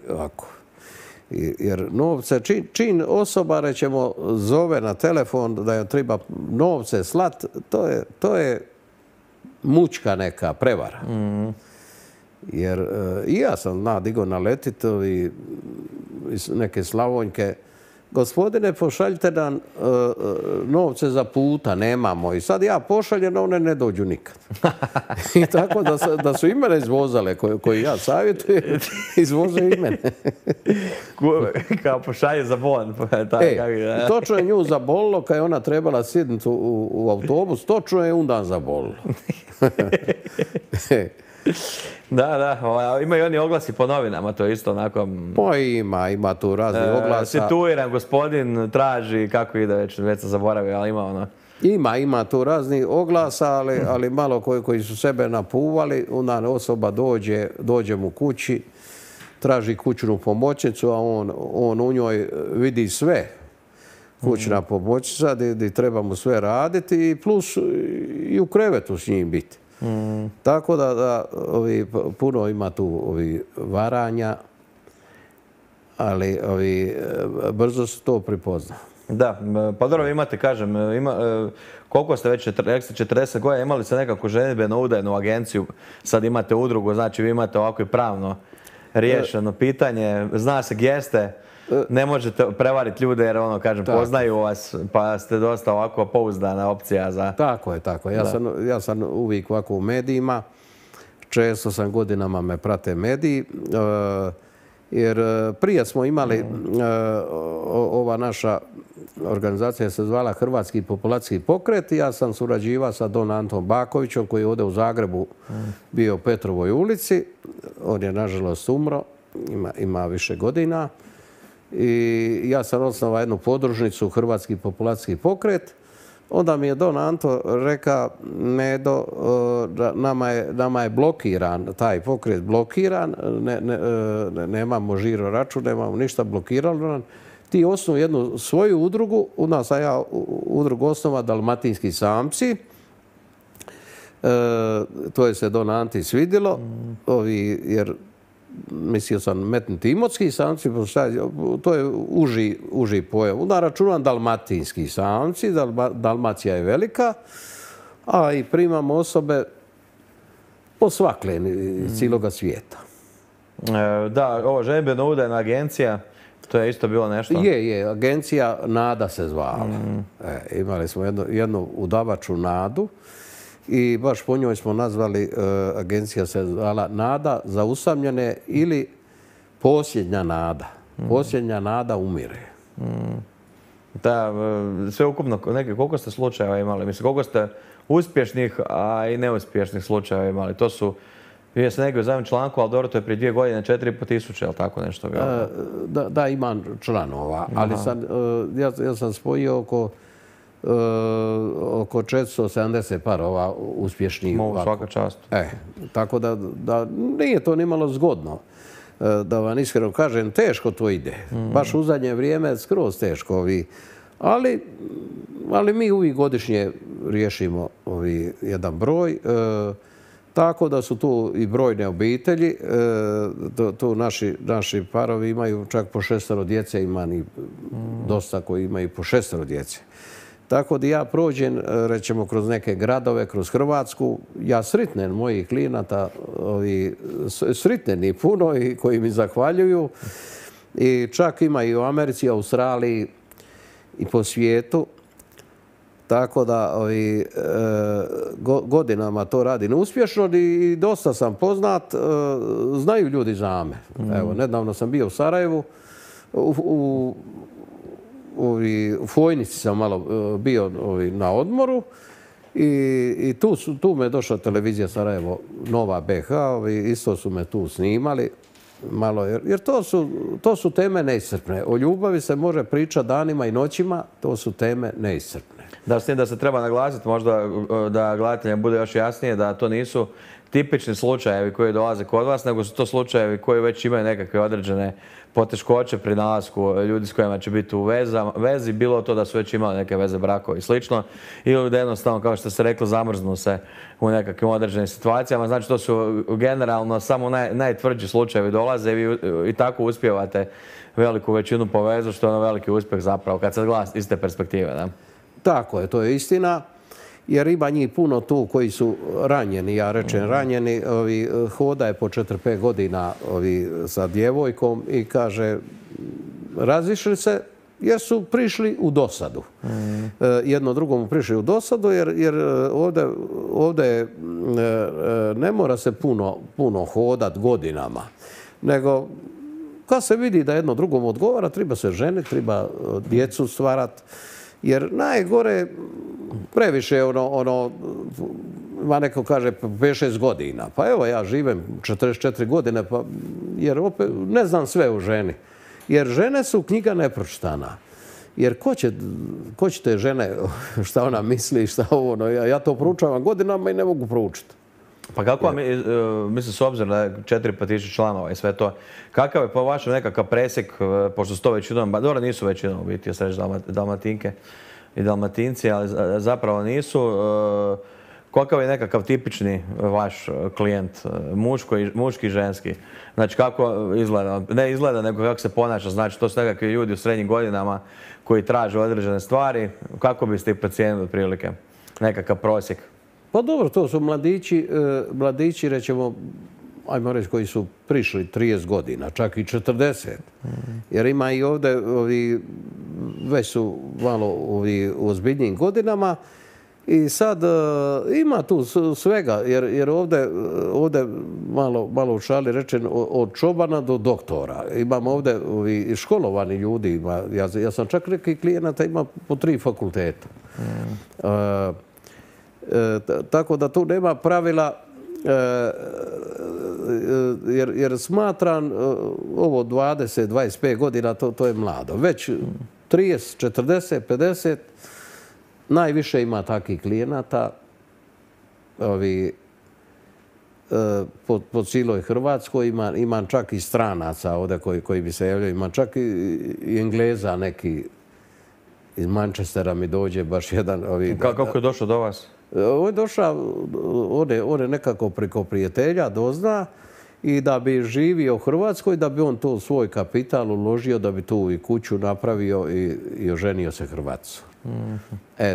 Jer novce, čim osoba, rećemo, zove na telefon da je treba novce slat, to je mučka neka prevara. Jer i ja sam digao naletit iz neke Slavonjke. Gospodine, pošaljite nam novce za puta, nemamo. I sad ja pošaljem, one ne dođu nikad. I tako da su i mene izvozale, koji ja savjetujem, izvoze i mene. Kao pošalje za bon. Točno je nju zabolilo, kad je ona trebala sjednuti u autobus, točno je undan zabolilo. Da, imaju oni oglasi po novinama, to je isto onako... Pa ima tu razni oglasa. Situiran gospodin traži, kako ide već sam zaboravio, ali ima ono... Ima tu razni oglasa, ali malo koji su sebe napuvali, onda osoba dođe mu kući, traži kućnu pomoćnicu, a on u njoj vidi sve. Kućna pomoćnica, gdje treba mu sve raditi i plus i u krevetu s njim biti. Tako da puno ima tu varanja, ali brzo se to pripozna. Da, pa dobro imate, kažem, koliko ste već, 40 godina, imali ste nekakvu ženidbeno udajnu agenciju, sad imate udrugu, znači vi imate ovako i pravno riješeno pitanje, zna se gdje ste, ne možete prevariti ljude jer poznaju vas, pa ste dosta ovako pouzdana opcija za... Tako je. Ja sam uvijek ovako u medijima, često sam godinama me prate mediji, jer prije smo imali, ova naša organizacija se zvala Hrvatski populacijski pokret i ja sam surađivao sa Don Antom Bakovićem koji je ovdje u Zagrebu bio u Petrovoj ulici. On je nažalost umro, ima više godina. I ja sam osnovao jednu podružnicu Hrvatski populacijski pokret. Onda mi je Don Anto rekao, Nedo, nama je blokiran, taj pokret blokiran, nemamo žiro račun, nemamo ništa blokirano. Ti osnovu jednu svoju udrugu, u nas sam ja udrugu osnova Dalmatinski samci. To je se Don Anti svidjelo, jer mislio sam metnuti imotski samci, to je uži pojam. Onda računam dalmatinski samci, Dalmacija je velika, a i primamo osobe posvakle iz cijeloga svijeta. Da, ovo ženidbeno udajna agencija, to je isto bilo nešto? Je, agencija Nada se zvala. Imali smo jednu udavaču Nadu. I baš po njoj smo nazvali, agencija se zvala Nada za usamljene ili Posljednja nada. Posljednja nada umire. Da, sve ukupno, koliko ste slučajeva imali? Mislim, koliko ste uspješnih, a i neuspješnih slučajeva imali? To su, vidio sam negdje u zadnjem članku, ali dobro, to je prije 2 godine, 4.500, je li tako nešto? Da, imam članova, ali ja sam spojio oko 470 parova uspješnih. Svaka čast. Tako da nije to nimalo zgodno. Da vam iskreno kažem, teško to ide. Baš u zadnje vrijeme skroz teško. Ali mi uvijek godišnje riješimo jedan broj. Tako da su tu i brojne obitelji. Tu naši parovi imaju čak po 6 djece, ima i dosta koji imaju po 6 djece. Tako da ja prođem, rećemo, kroz neke gradove, kroz Hrvatsku, ja sretnem mojih klijenata, sretnem i puno i koji mi zahvaljuju. I čak ima i u Americi, Australiji i po svijetu. Tako da godinama to radim uspješno i dosta sam poznat. Znaju ljudi za me. Evo, nedavno sam bio u Sarajevu. U Fojnici sam malo bio na odmoru i tu me je došla televizija Sarajevo, Nova BH, isto su me tu snimali malo, jer to su teme neiscrpne. O ljubavi se može pričati danima i noćima, to su teme neiscrpne. Da, s tim da se treba naglasiti, možda da gledateljima bude još jasnije, da to nisu tipični slučajevi koji dolaze kod vas, nego su to slučajevi koji već imaju nekakve određene poteškoće pri nalasku ljudi s kojima će biti u vezi, bilo to da su već imali neke veze, brakova i slično, ili da jednostavno, kao što ste rekli, zamrznu se u nekakvim određenim situacijama. Znači, to su generalno samo najtvrđi slučajevi dolaze i tako uspijevate veliku većinu po vezu, što je ono veliki uspjeh zapravo, kad se gleda iz te perspektive. Da? Tako je, to je istina. Jer ima njih puno tu koji su ranjeni, ja rečem ranjeni, hoda je po 4-5 godina sa djevojkom i kaže razišli se jer su prišli u dosadu. Jedno drugomu prišli u dosadu jer ovdje ne mora se puno hodat godinama, nego kad se vidi da jedno drugom odgovara, treba se ženiti, treba djecu stvarati. Jer najgore previše ima neko kaže 5-6 godina. Pa evo ja živim 44 godine jer opet ne znam sve o ženi. Jer žene su knjiga nepročitana. Jer ko će te žene, šta ona misli, šta ovo, ja to proučavam godinama i ne mogu proučiti. Pa kako mislim, s obzirom da je 4.000 članova i sve to, kakav je po vašem nekakav presjek, pošto su to većinom, dobro nisu većinom u biti, jeste reći Dalmatinke i Dalmatinci, ali zapravo nisu. Kakav je nekakav tipični vaš klijent, muški i ženski? Znači kako izgleda, ne izgleda nego kako se ponaša, znači to su nekakvi ljudi u srednjim godinama koji traže određene stvari, kako biste ih procijenili otprilike, nekakav prosjek? Pa dobro, to su mladići, rećemo, ajmo reći, koji su prišli 30 godina, čak i 40. Jer ima i ovdje, već su malo u ozbiljnijim godinama i sad ima tu svega, jer ovdje malo u šali rečen od čobana do doktora. Imamo ovdje školovani ljudi, ja sam čak neki klijenata ima po 3 fakulteta. Tako da tu nema pravila, jer smatram ovo 20-25 godina, to je mlado. Već 30, 40, 50, najviše ima takvih klijenata po cijeloj Hrvatskoj. Imam čak i stranaca ovdje koji bi se javljaju. Imam čak i Engleza neki iz Manchestera mi dođe baš jedan. Kako je došao do vas? On je došao, on je nekako preko prijatelja dozna i da bi živio u Hrvatskoj, da bi on to svoj kapital uložio, da bi tu i kuću napravio i oženio se Hrvatsu.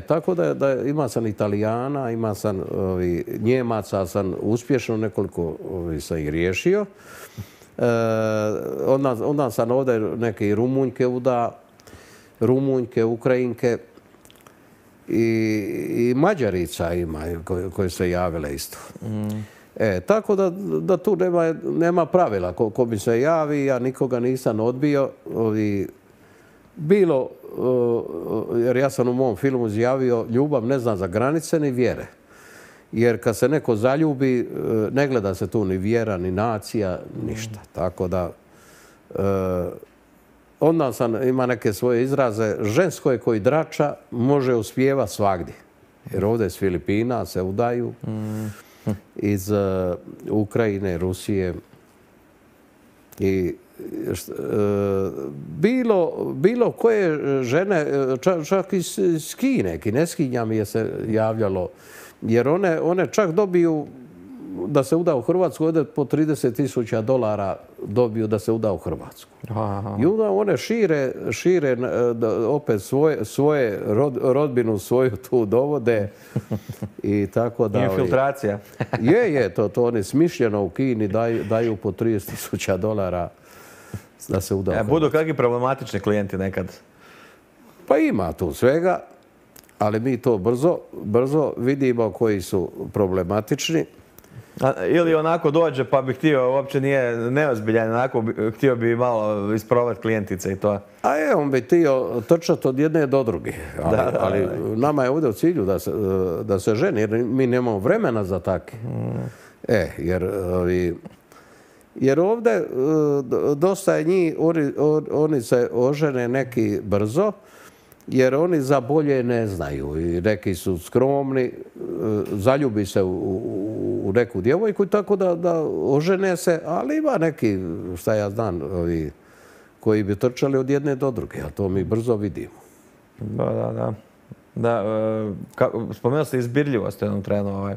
Tako da ima sam Italijana, ima sam Njemaca, sam uspješno nekoliko sam ih riješio. Onda sam ovdje neke Rumunjke uda, Rumunjke, Ukrajinke. I Mađarica ima koje se javile isto. Tako da tu nema pravila. Ko mi se javi, ja nikoga nisam odbio. Bilo, jer ja sam u mom filmu izjavio, ljubav ne zna za granice ni vjere. Jer kad se neko zaljubi, ne gleda se tu ni vjera, ni nacija, ništa. Tako da onda ima neke svoje izraze. Žensko je koji drača, može uspjeva svagdje. Jer ovdje iz Filipina se udaju, iz Ukrajine, Rusije. I bilo koje žene, čak iz Kine, Kineskinja mi je se javljalo, jer one čak dobiju da se uda u Hrvatsku, ovdje po $30.000 dobiju da se uda u Hrvatsku. I onda one šire opet svoje rodbinu svoju tu dovode i tako da... Infiltracija. To oni smišljeno u Kini daju po $30.000 da se uda u Hrvatsku. Budu kakvi problematični klijenti nekad? Pa ima tu svega, ali mi to brzo vidimo koji su problematični. Ili onako dođe pa bi htio, uopće nije neozbiljan, onako htio bi malo isprobati klijentice i to. On bi htio trčati od jedne do druge. Ali nama je ovdje u cilju da se ženi, jer mi nemamo vremena za takve. Jer ovdje dosta je njih, oni se ožene neki brzo, jer oni za bolje ne znaju i neki su skromni, zaljubi se u neku djevojku i tako da ožene se, ali ima neki, šta ja znam, koji bi trčali od jedne do druge, a to mi brzo vidimo. Da, spomenuo ste izbirljivost u jednom trenu.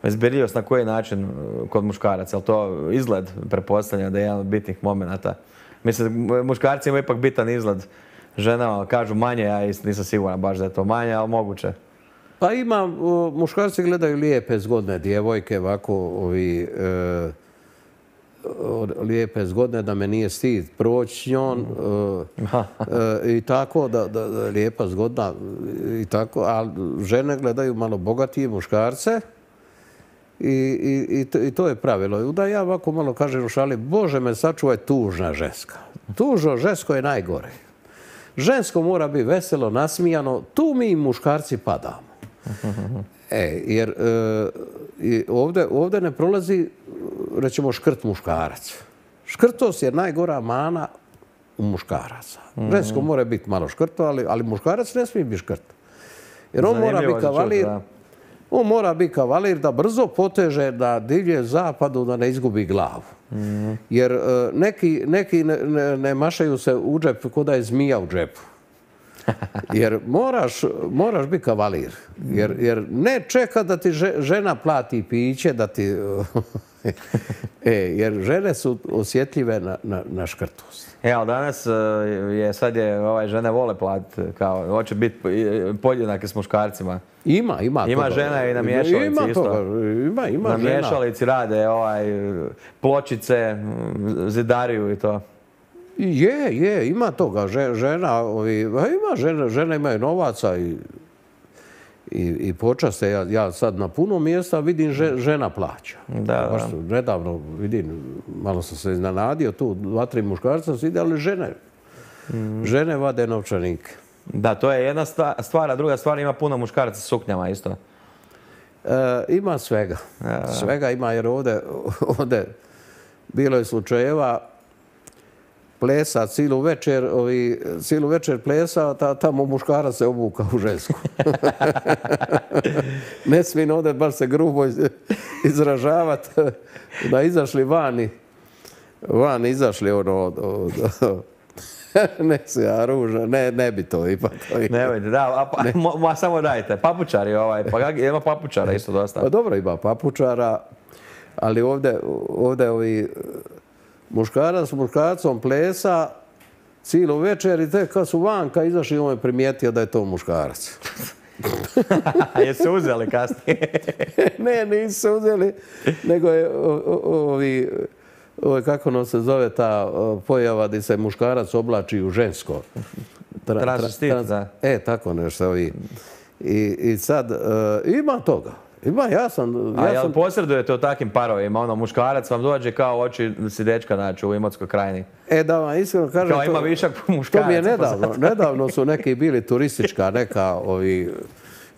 Izbirljivost na koji način kod muškaraca, ali to izgled pretpostavlja da je jedan od bitnih momenata. Mislim, muškarci imaju ipak bitan izgled. Ženama kažu manje, ja nisam siguran baš da je to manje, ali moguće. Pa ima, muškarci gledaju lijepe, zgodne djevojke, ovako, lijepe, zgodne, da me nije stid proći s njom i tako, da lijepa, zgodna i tako, ali žene gledaju malo bogatije muškarce i to je pravilo. I onda ja ovako malo kažem u šali, Bože me sačuvaj tužna ženska. Tužno žensko je najgore. Žensko mora biti veselo, nasmijano, tu mi muškarci padamo. Jer ovdje ne prolazi, rećemo, škrt muškarac. Škrtost je najgora mana u muškaraca. Žensko mora biti malo škrto, ali muškarac ne smije biti škrt. Jer on mora biti kavalir. On mora biti kavalir da brzo poteže na divlje zapadu, da ne izgubi glavu. Jer neki ne mašaju se u džep ko da je zmija u džepu. Jer moraš biti kavalir. Jer ne čeka da ti žena plati piće, da ti... Jer žene su osjetljive na škrtost. Ali danas sad je žene vole platiti, kao hoće biti podjednake s muškarcima. Ima toga. Žena i na miješalici isto. Ima na miješalici rade pločice, zidariju i to. Ima toga. Žene imaju novaca i počaste. Ja sad na puno mjesta vidim žena plaća. Nedavno vidim, malo sam se iznenadio, tu 2-3 muškarca su ide, ali žene vade novčanike. Da, to je jedna stvar, a druga stvar ima puno muškaraca s suknjama isto. Ima svega. Svega ima, jer ovdje bilo je slučajeva plesa cijelu večer plesa, tamo muškarac se obuka u žensku. Ne smijem ovdje baš se grubo izražavati, da izašli vani izašli ne se, ja ružno, ne bi to ipak. Nemojte, da, samo dajte, papučari pa ima papučara isto dosta. Pa dobro, ima papučara, ali ovdje ovi muškarac s muškarcom plesa cijelu večer i tek kad su vanka izašli, on je primijetio da je to muškarac. Jesu uzeli kasnije? Ne, nisu se uzeli, nego je kako nam se zove ta pojava gdje se muškarac oblači u žensko. Transvestit, da. Tako nešto. I sad, ima toga. Jel posredujete u takvim parovima? Muškarac vam dođe kao oči si dečka naći u Imotskoj krajini. Da vam iskreno kažem... Kao ima višak muškaraca. To mi je nedavno. Nedavno su neki bili turistička neka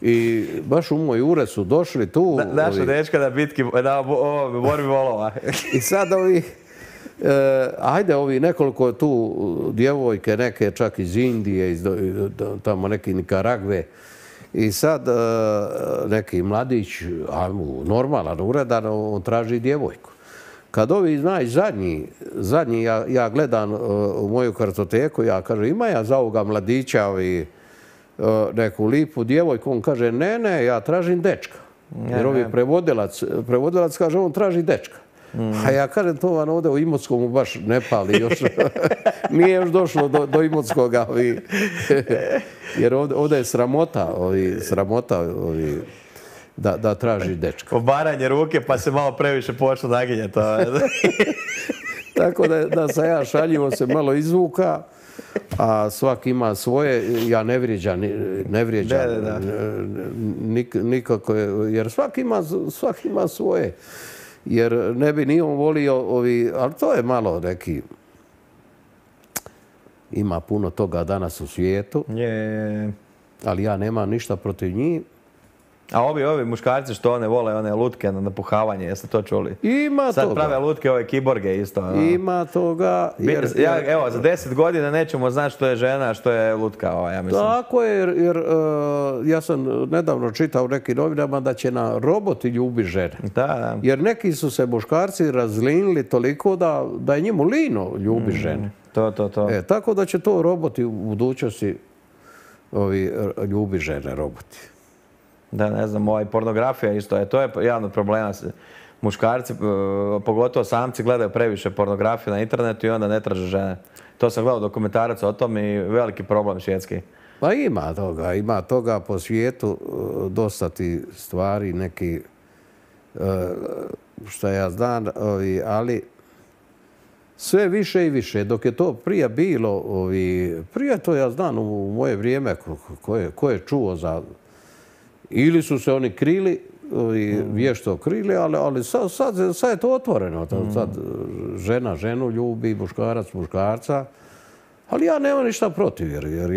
i baš u moj ured su došli tu... Naša dečka na bitki, na borbi volova. I sad ajde nekoliko tu djevojke, neke čak iz Indije, tamo neki Nikaragve. I sad neki mladić, normalan, uredan, on traži djevojku. Kad ovi zadnji ja gledam u moju kartoteku, ja kažem, ima ja za ovoga mladića neku lipu djevojku, on kaže, ne, ja tražim dečka. Jer ovi prevodilac kaže, on traži dečka. A ja kažem, to vam ovdje u Imotskomu baš ne pali još. Nije još došlo do Imotskoga. Jer ovdje je sramota da traži dečka. Obaranje ruke pa se malo previše počnu naginjati. Tako da sam ja šaljivo se malo izvuka, a svaki ima svoje. Ja ne vrijeđam nikako, jer svaki ima svoje. Jer ne bi ni on volio ali to je malo neki... Ima puno toga danas u svijetu, ali ja nemam ništa protiv njih. A ovi muškarci što ne vole one lutke na napuhavanje, jeste to čuli? Ima toga. Sad prave lutke, ove kiborge isto. Ima toga. Evo, za 10 godina nećemo znati što je žena, što je lutka, ja mislim. Tako je, jer ja sam nedavno čitao u nekim novinama da će na roboti ljubiti žene. Da. Jer neki su se muškarci razlinili toliko da je njemu lino ljubi žene. To. Tako da će to roboti u budućnosti ljubi žene, roboti. Da, ne znam, pornografija isto, to je jedan od problema. Muškarci, pogotovo samci, gledaju previše pornografije na internetu i onda ne traže žene. To sam gledao dokumentarac o tom i veliki problem svjetski. Pa ima toga po svijetu, dosta ti stvari, neki, šta ja znam, ali sve više i više. Dok je to prije bilo, prije to ja znam u moje vrijeme, ko je čuo za... Ili su se oni krili, vješto krili, ali sad je to otvoreno. Sad žena ženu ljubi, muškarac muškarca. Ali ja nemam ništa protiv, jer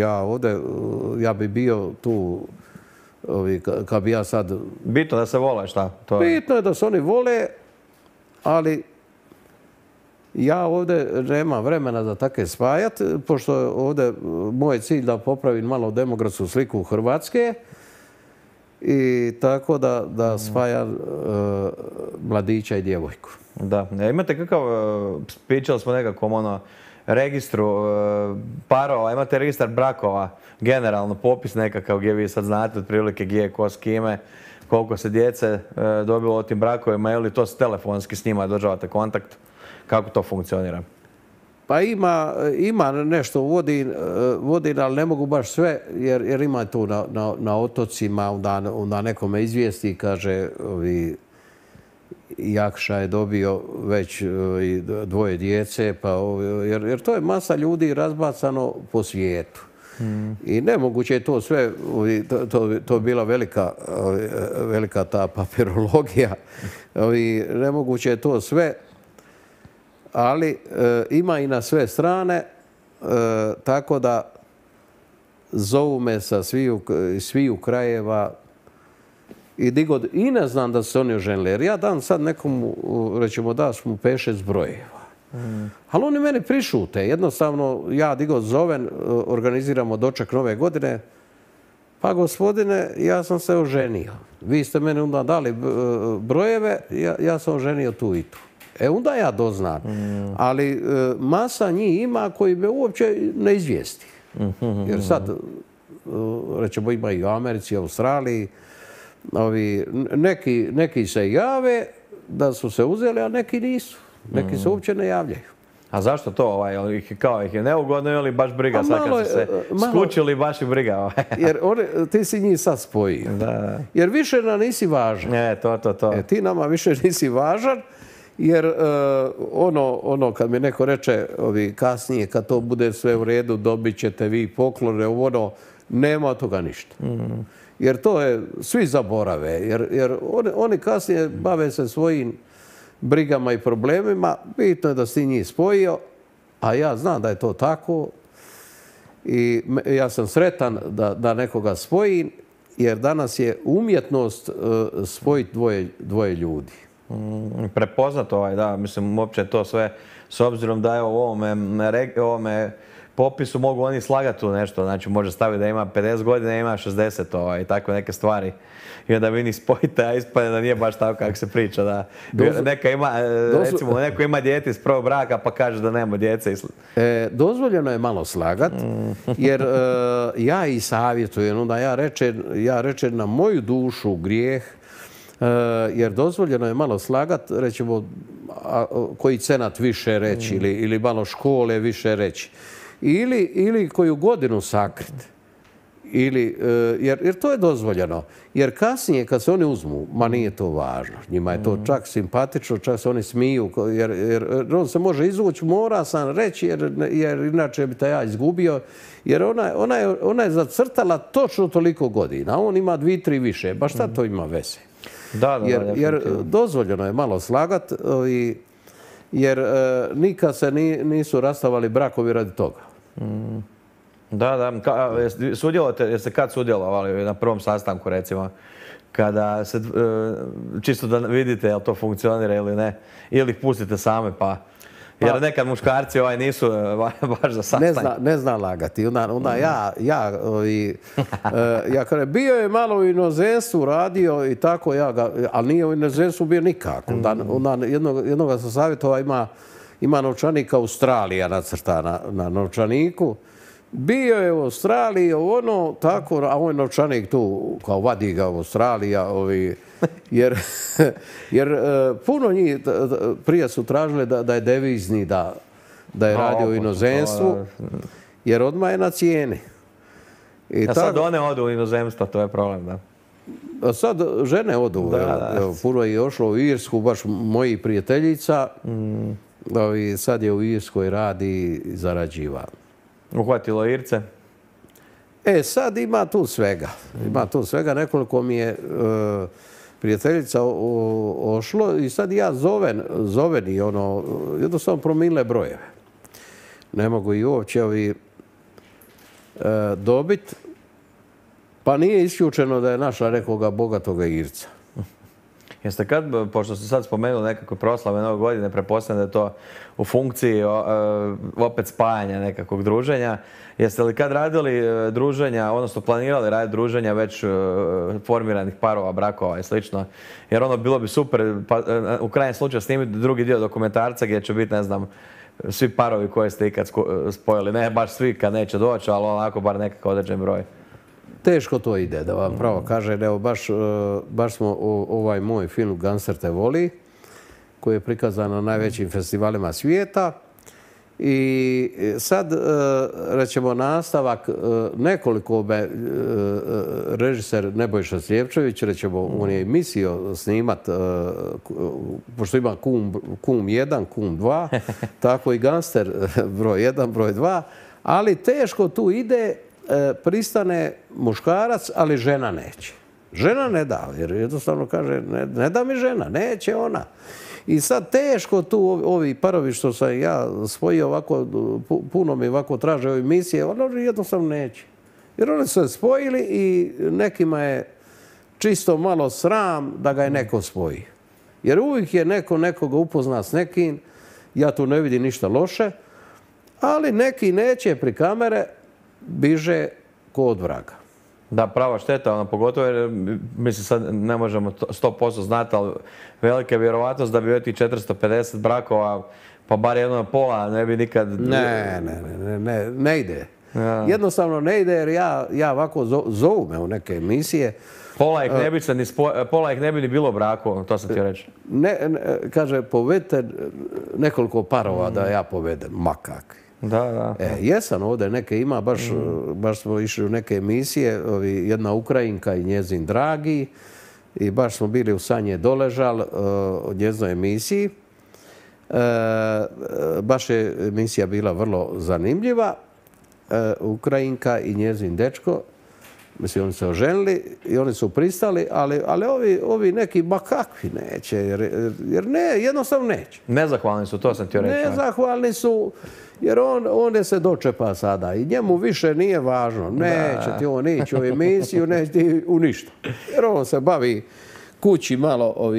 ja bi bio tu, kad bi ja sad... Bitno da se vole, šta? Bitno je da se oni vole, ali ja ovdje nemam vremena za take spajati, pošto ovdje moj cilj da popravim malo demografsku sliku Hrvatske, i tako da spaja mladića i djevojku. Da. Imate kakav, pričali smo nekakvom registru parova, imate registar brakova, generalno popis nekakav gdje vi sad znate otprilike gdje je ko s kime, koliko se djece dobilo o tim brakovima ili to telefonski s njima održavate kontakt, kako to funkcionira? Pa ima nešto vodim, ali ne mogu baš sve, jer ima tu na otocima, onda nekome izvijesti, kaže, Jakša je dobio već dvoje djece, jer to je masa ljudi razbacano po svijetu. I nemoguće je to sve, to je bila velika ta papirologija, nemoguće je to sve, ali ima i na sve strane, tako da zovu me sa sviju krajeva i ne znam da su se oni oženili. Jer ja dam sad nekomu, rećemo da smo 5-6 brojeva. Ali oni meni prišute. Jednostavno, ja zovem, organiziramo doček Nove godine. Pa gospodine, ja sam se oženio. Vi ste meni onda dali brojeve, ja sam oženio tu i tu. Onda ja doznam. Ali masa njih ima koji me uopće ne izvijesti. Jer sad, rećemo, ima i u Americi, Australiji, neki se jave da su se uzeli, a neki nisu. Neki se uopće ne javljaju. A zašto to? Kao ih je neugodno ili baš briga? Sad kad su se skučili, baš i briga. Jer ti si njih sad spojio. Jer više nam nisi važan. To. Ti nama više nisi važan. Jer ono kad mi neko reče kasnije, kad to bude sve u redu, dobit ćete vi poklone, nema od toga ništa. Jer to je, svi zaborave. Jer oni kasnije bave se svojim brigama i problemima. Bitno je da si njih spojio, a ja znam da je to tako. I ja sam sretan da nekoga spojim, jer danas je umjetnost spojiti dvoje ljudi. Prepoznato da, mislim, uopće to sve, s obzirom da je u ovome popisu mogu oni slagati tu nešto, znači može staviti da ima 50 godina, ima 60 i takve neke stvari. I onda vi njih spojite, a ispadne da nije baš tako kako se priča. Da. Recimo, neko ima dijete iz prvog braka pa kaže da nema djece. Dozvoljeno je malo slagat, jer ja i savjetujem, onda ja rečem na moju dušu grijeh, jer dozvoljeno je malo slagat, rećemo, koji cenat više reći ili malo škole više reći. Ili koju godinu sakrit. Jer to je dozvoljeno. Jer kasnije kad se oni uzmu, ma nije to važno. Njima je to čak simpatično, čak se oni smiju. Jer on se može izvući, mora sam reći jer inače bi te ja izgubio. Jer ona je zacrtala točno toliko godina. A on ima 2-3 više. Ba šta to ima veze? Jer dozvoljeno je malo slagat. Jer nikad se nisu rastavali brakovi radi toga. Da. Jeste kad sudjelovali na prvom sastanku, recimo, kada se, čisto da vidite jel to funkcionira ili ne, ili ih pustite same pa... Jer nekad muškarci nisu baš za sastanke. Ne zna lagati. Onda ja kažem, bio je malo u inozemstvu, radio i tako, ali nije u inozemstvu bio nikako. Onda jednoga sam savjetovao, ima novčanik Australija nacrta na novčaniku. Bio je u Australiji, tako, a ovaj novčanik tu, kao vadi ga u Australija, jer puno njih prije su tražili da je devizni, da je radio u inozemstvu, jer odmah je na cijeni. A sad one odu u inozemstvo, to je problem, da? A sad žene odu, puno je ošlo u Irsku, baš mojih prijateljica, sad je u Irskoj radi i zarađiva. Uhvatilo Irce? Sad ima tu svega. Nekoliko mi je prijateljica ošlo i sad ja zovem i jednostavno promile brojeve. Ne mogu i uopće dobiti. Pa nije isključeno da je našla nekoga bogatoga Irca. Jeste kad, pošto ste sad spomenuli nekako proslave Nove godine, pretpostavljam da je to u funkciji opet spajanja nekakvog druženja, jeste li kad radili druženja, odnosno planirali raditi druženja već formiranih parova, brakova i slično? Jer bilo bi super, u krajnjem slučaju snimiti drugi dio dokumentarca gdje će biti, ne znam, svi parovi koje ste ikad spojili. Ne baš svi kad neće doći, ali onako bar nekakav određen broj. Teško to ide, da vam pravo kažem. Evo, baš smo ovaj moj film Gangster te voli, koji je prikazan na najvećim festivalima svijeta. I sad, rećemo, nastavak, nekoliko režiser Nebojša Sljepčević, rećemo, on je mislio snimat, pošto ima Kum 1, Kum 2, tako i Gangster broj 1, broj 2, ali teško tu ide, pristane muškarac, ali žena neće. Žena ne da, jer jednostavno kaže, ne da mi žena, neće ona. I sad teško tu ovi parovi što sam ja spojio ovako, puno mi ovako traže ove emisije, ono jednostavno neće. Jer oni su se spojili i nekima je čisto malo sram da ga je neko spoji. Jer uvijek je neko nekoga upozna s nekim, ja tu ne vidim ništa loše, ali neki neće pri kamere, biže ko od vraga. Da, prava šteta, pogotovo jer, mislim, sad ne možemo 100% znati, ali velika je vjerovatnost da bi ovih 450 brakova, pa bar jedno na pola, ne bi nikad... Ne ide. Ja. Jednostavno ne ide jer ja ovako zovu me u neke emisije. Pola ih ne bi ni bilo u braku, to sam ti reći. Kaže, povedite nekoliko parova da ja povedem, ma kakvi. Da. Jesam ovdje, neke ima, baš smo išli u neke emisije, jedna Ukrajinka i njezin dragi, i baš smo bili u Sanje Doležal o njezinoj emisiji. Baš je emisija bila vrlo zanimljiva. Ukrajinka i njezin dečko, mislim, oni se oženili i oni su pristali, ali ovi neki, ma kakvi neće, jer jednostavno neće. Nezahvalni su, to sam ti reći. Nezahvalni su, jer on se dočepa sada i njemu više nije važno. Neće ti on ići u emisiju, neće ti u ništa. Jer on se bavi kući malo,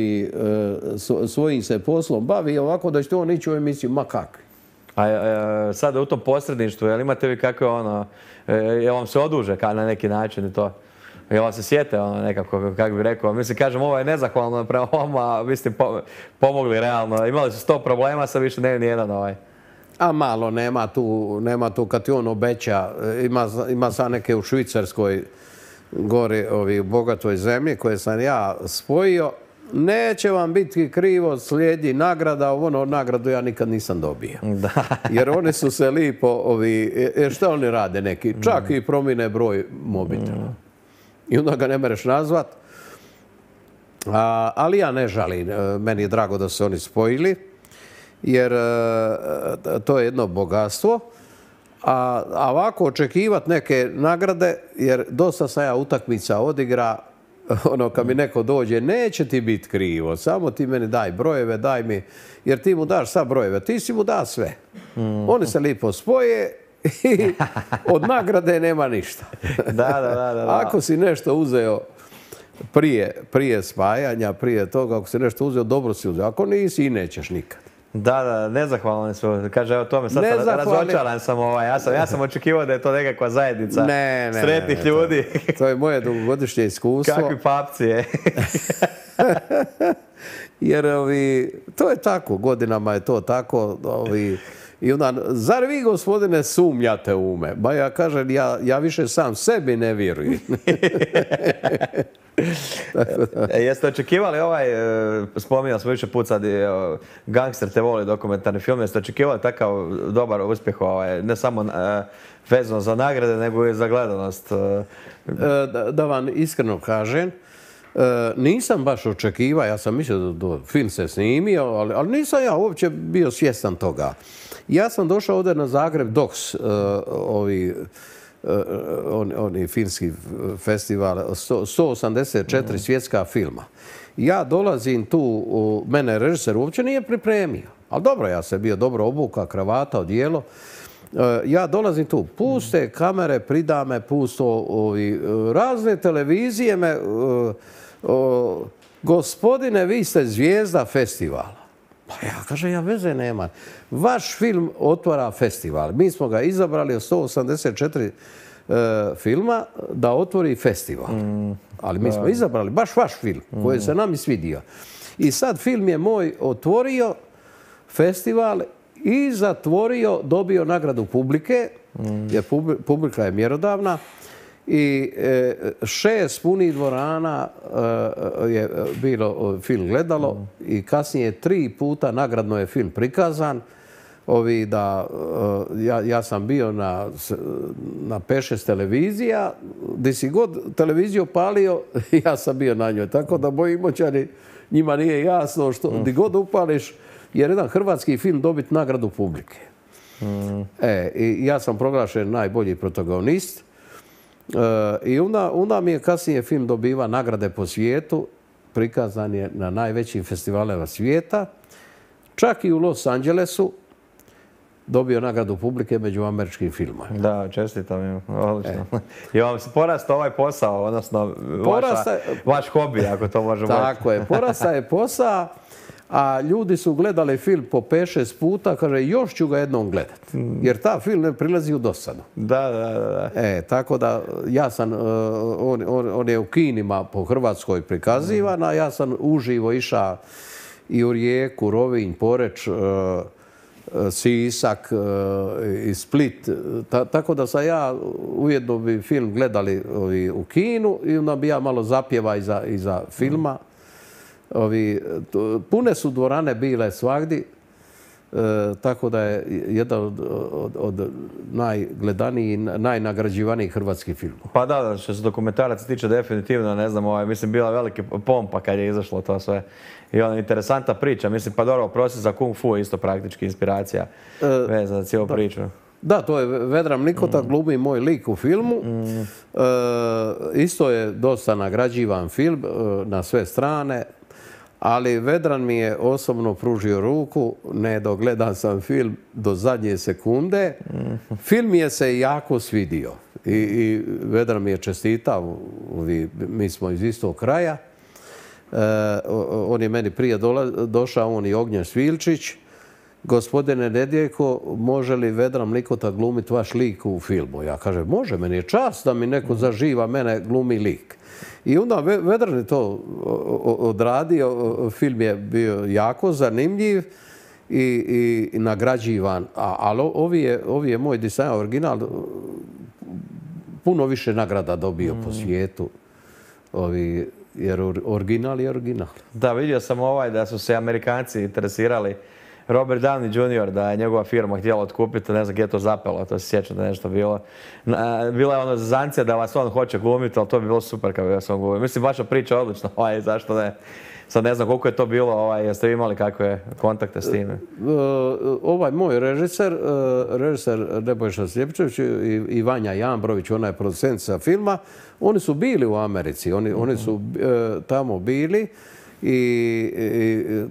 svojim se poslom bavi ovako da će on ići u emisiju, ma kakvi. A sada u tom posredništvu, jel imate vi kakve jel vam se oduže na neki način i to? Jel vam se sjete nekako, kako bih rekao? Mislim, kažem, ovo je nezahvalno prema vama, vi ste pomogli realno. Imali su 100 problema, sad više ne ni jedan ovaj. A malo, nema tu kad ti on obeća. Ima sad neke u Švicarskoj, gore u bogatoj zemlji koje sam ja spojio neće vam biti krivo, slijedi nagrada, ono nagradu ja nikad nisam dobio. Da. Jer oni su se lipo, šta oni rade neki? Čak i promijene broj mobitela. I onda ga ne mereš nazvat. Ali ja ne žalim. Meni je drago da su oni spojili. Jer to je jedno bogatstvo. A ovako očekivati neke nagrade, jer dosta sam ja utakmica odigra, ono kad mi neko dođe, neće ti biti krivo, samo ti meni daj brojeve, daj mi, jer ti mu daš sad brojeve, ti si mu da sve. Oni se lipo spoje i od nagrade nema ništa. Da. Ako si nešto uzeo prije spajanja, prije toga, ako si nešto uzeo, dobro si uzeo. Ako nisi, i nećeš nikad. Da, nezahvalni su. Kaže, evo tome, sad sam razočaran sam ja sam očekivao da je to nekakva zajednica sretnih ljudi. To je moje dugogodišnje iskustvo. Kakvi papci je. Jer to je tako, godinama je to tako. I onda, zar vi, gospodine, sumnjate u me? Ba ja kažem, ja više sam sebi ne vjerujem. Jeste očekivali spominjali smo više put sad, Gangster te voli dokumentarni film, jeste očekivali takav dobar uspjeh, ne samo vezano za nagrade, nego i za gledanost? Da vam iskreno kažem, nisam baš očekivao, ja sam mislio da film se snimio, ali nisam ja uopće bio svjestan toga. Ja sam došao ovdje na Zagreb Docs, oni filmski festival, 184 svjetska filma. Ja dolazim tu, mene režiser uopće nije pripremio. Ali dobro, ja sam bio dobro obuka, kravata, odijelo. Ja dolazim tu, puste kamere, pridame, pusto razne televizije me, gospodine, vi ste zvijezda festivala. Pa ja kažem, ja veze nema. Vaš film otvara festival. Mi smo ga izabrali od 184 filma da otvori festival. Ali mi smo izabrali baš vaš film koji se nam i svidio. I sad film je moj otvorio festival i zatvorio, dobio nagradu publike, jer publika je mjerodavna. I 6 punih dvorana je bilo film gledalo i kasnije 3 puta nagradno je film prikazan. Ja sam bio na 5-6 televizija, gdje si god televiziju palio, ja sam bio na njoj. Tako da moji moćani, njima nije jasno što gdje god upališ, jer jedan hrvatski film dobiti nagradu publike. I ja sam proglašen najbolji protagonist. I onda mi je kasnije film dobiva nagrade po svijetu, prikazan je na najvećim festivalima svijeta, čak i u Los Angelesu dobio nagradu publike među američkim filmovima. Da, čestitam im, odlično. I vam se porastao ovaj posao, odnosno vaš hobi, ako to možemo reći. Tako je, porastao je posao, a ljudi su gledali film po 5-6 puta, kaže, još ću ga jednom gledati. Jer ta film ne prilazi u dosadu. Da. Tako da, ja sam, on je u kinima po Hrvatskoj prikazivan, a ja sam uživo išao i u Rijeku, Rovinj, Poreč, Sisak i Split. Tako da sam ja ujedno bi film gledali u kinu i onda bi ja malo zapjeva iza filma. Pune su dvorane bile svagdi, tako da je jedan od najgledanijih i najnagrađivanijih hrvatskih filmova. Pa da, što se dokumentaraca tiče definitivno, ne znam, mislim bila velika pompa kad je izašlo to sve. I ona interesantna priča, mislim, pa dobro, Proces za Kung Fu je isto praktički inspiracija vezana za cijelu priču. Da, to je Vedran Mlikota, glumi moj lik u filmu. Isto je dosta nagrađivan film na sve strane. Ali Vedran mi je osobno pružio ruku, ne dogledan sam film do zadnje sekunde. Film je se jako svidio i Vedran mi je čestitao, mi smo iz istog kraja. On je meni prije došao, on i Ognjen Svilčić. Gospodine Nedjeljko, može li Vedran Mlikota glumiti vaš lik u filmu? Ja kažem, može, meni je čast da mi neko zaživa, mene glumi lik. I onda Vedran je to odradio, film je bio jako zanimljiv i nagrađivan. Ali ovi je moj dizajn original puno više nagrada dobio po svijetu. jer original je original. Da, vidio sam da su se Amerikanci interesirali. Robert Downey Jr. da je njegova firma htjela otkupiti, ne znam gdje je to zapelo, to se sjećam da je nešto bilo. Bila je zezancija da vas on hoće glumiti, ali to bi bilo super kad bi vas on glumio. Mislim, vaša priča je odlična, zašto ne? Sad ne znam koliko je to bilo, jeste vi imali kakve kontakte s time? Ovaj moj režiser Nebojša Sljepčević i Vanja Jambrović, ona je producentica filma, oni su bili u Americi, oni su tamo bili i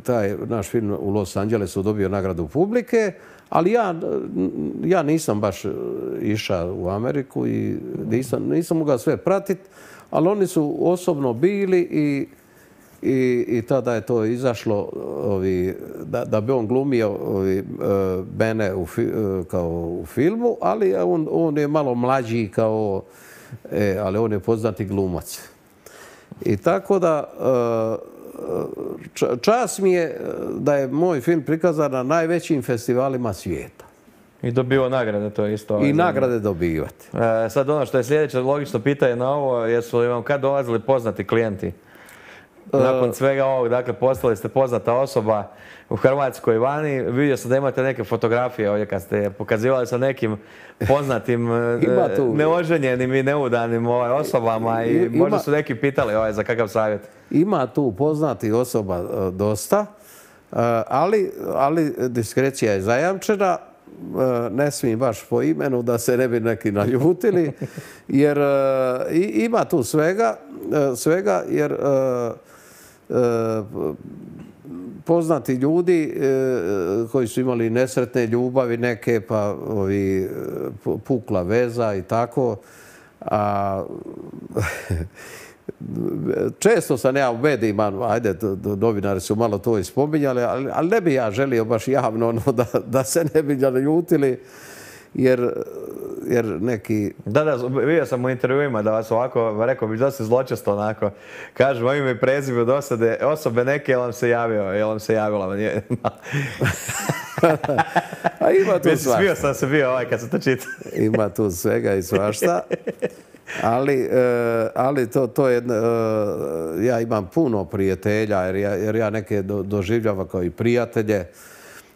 taj naš film u Los Angelesu dobio nagradu publike, ali ja nisam baš išao u Ameriku i nisam mogao sve pratiti, ali oni su osobno bili i tada je to izašlo da bi on glumio Bene kao u filmu, ali on je malo mlađi ali on je poznati glumac. I tako da čast mi je da je moj film prikazan na najvećim festivalima svijeta. I dobio nagrade, to je isto. I nagrade dobivati. Sad ono što je sljedeće logično pitanje na ovo, jesu li vam kad dolazili poznati klijenti? Nakon svega ovog, dakle, postali ste poznata osoba u Hrvatskoj vani. Vidio sam da imate neke fotografije ovdje kad ste pokazivali sa nekim poznatim neoženjenim i neudanim osobama i možda su neki pitali za kakav savjet. Ima tu poznatih osoba dosta, ali diskrecija je zajamčena. Ne smijem baš po imenu da se ne bi neki naljutili, jer ima tu svega jer poznati ljudi koji su imali nesretne ljubavi neke, pa pukla veza i tako. Često sam ja u medijima, novinari su malo to i spominjali, ali ne bi ja želio baš javno da se ne bi naljutili, jer neki... Da, vidio sam u intervjuima da vas ovako, rekao bih dosta zločesto onako, kažu moje ime i prezime dosade osobe neke, jel vam se javila? A ima tu svašta. Smio sam se bio kad sam to čitao. Ima tu svega i svašta. Ali to je, ja imam puno prijatelja jer ja neke doživljavam kao i prijatelje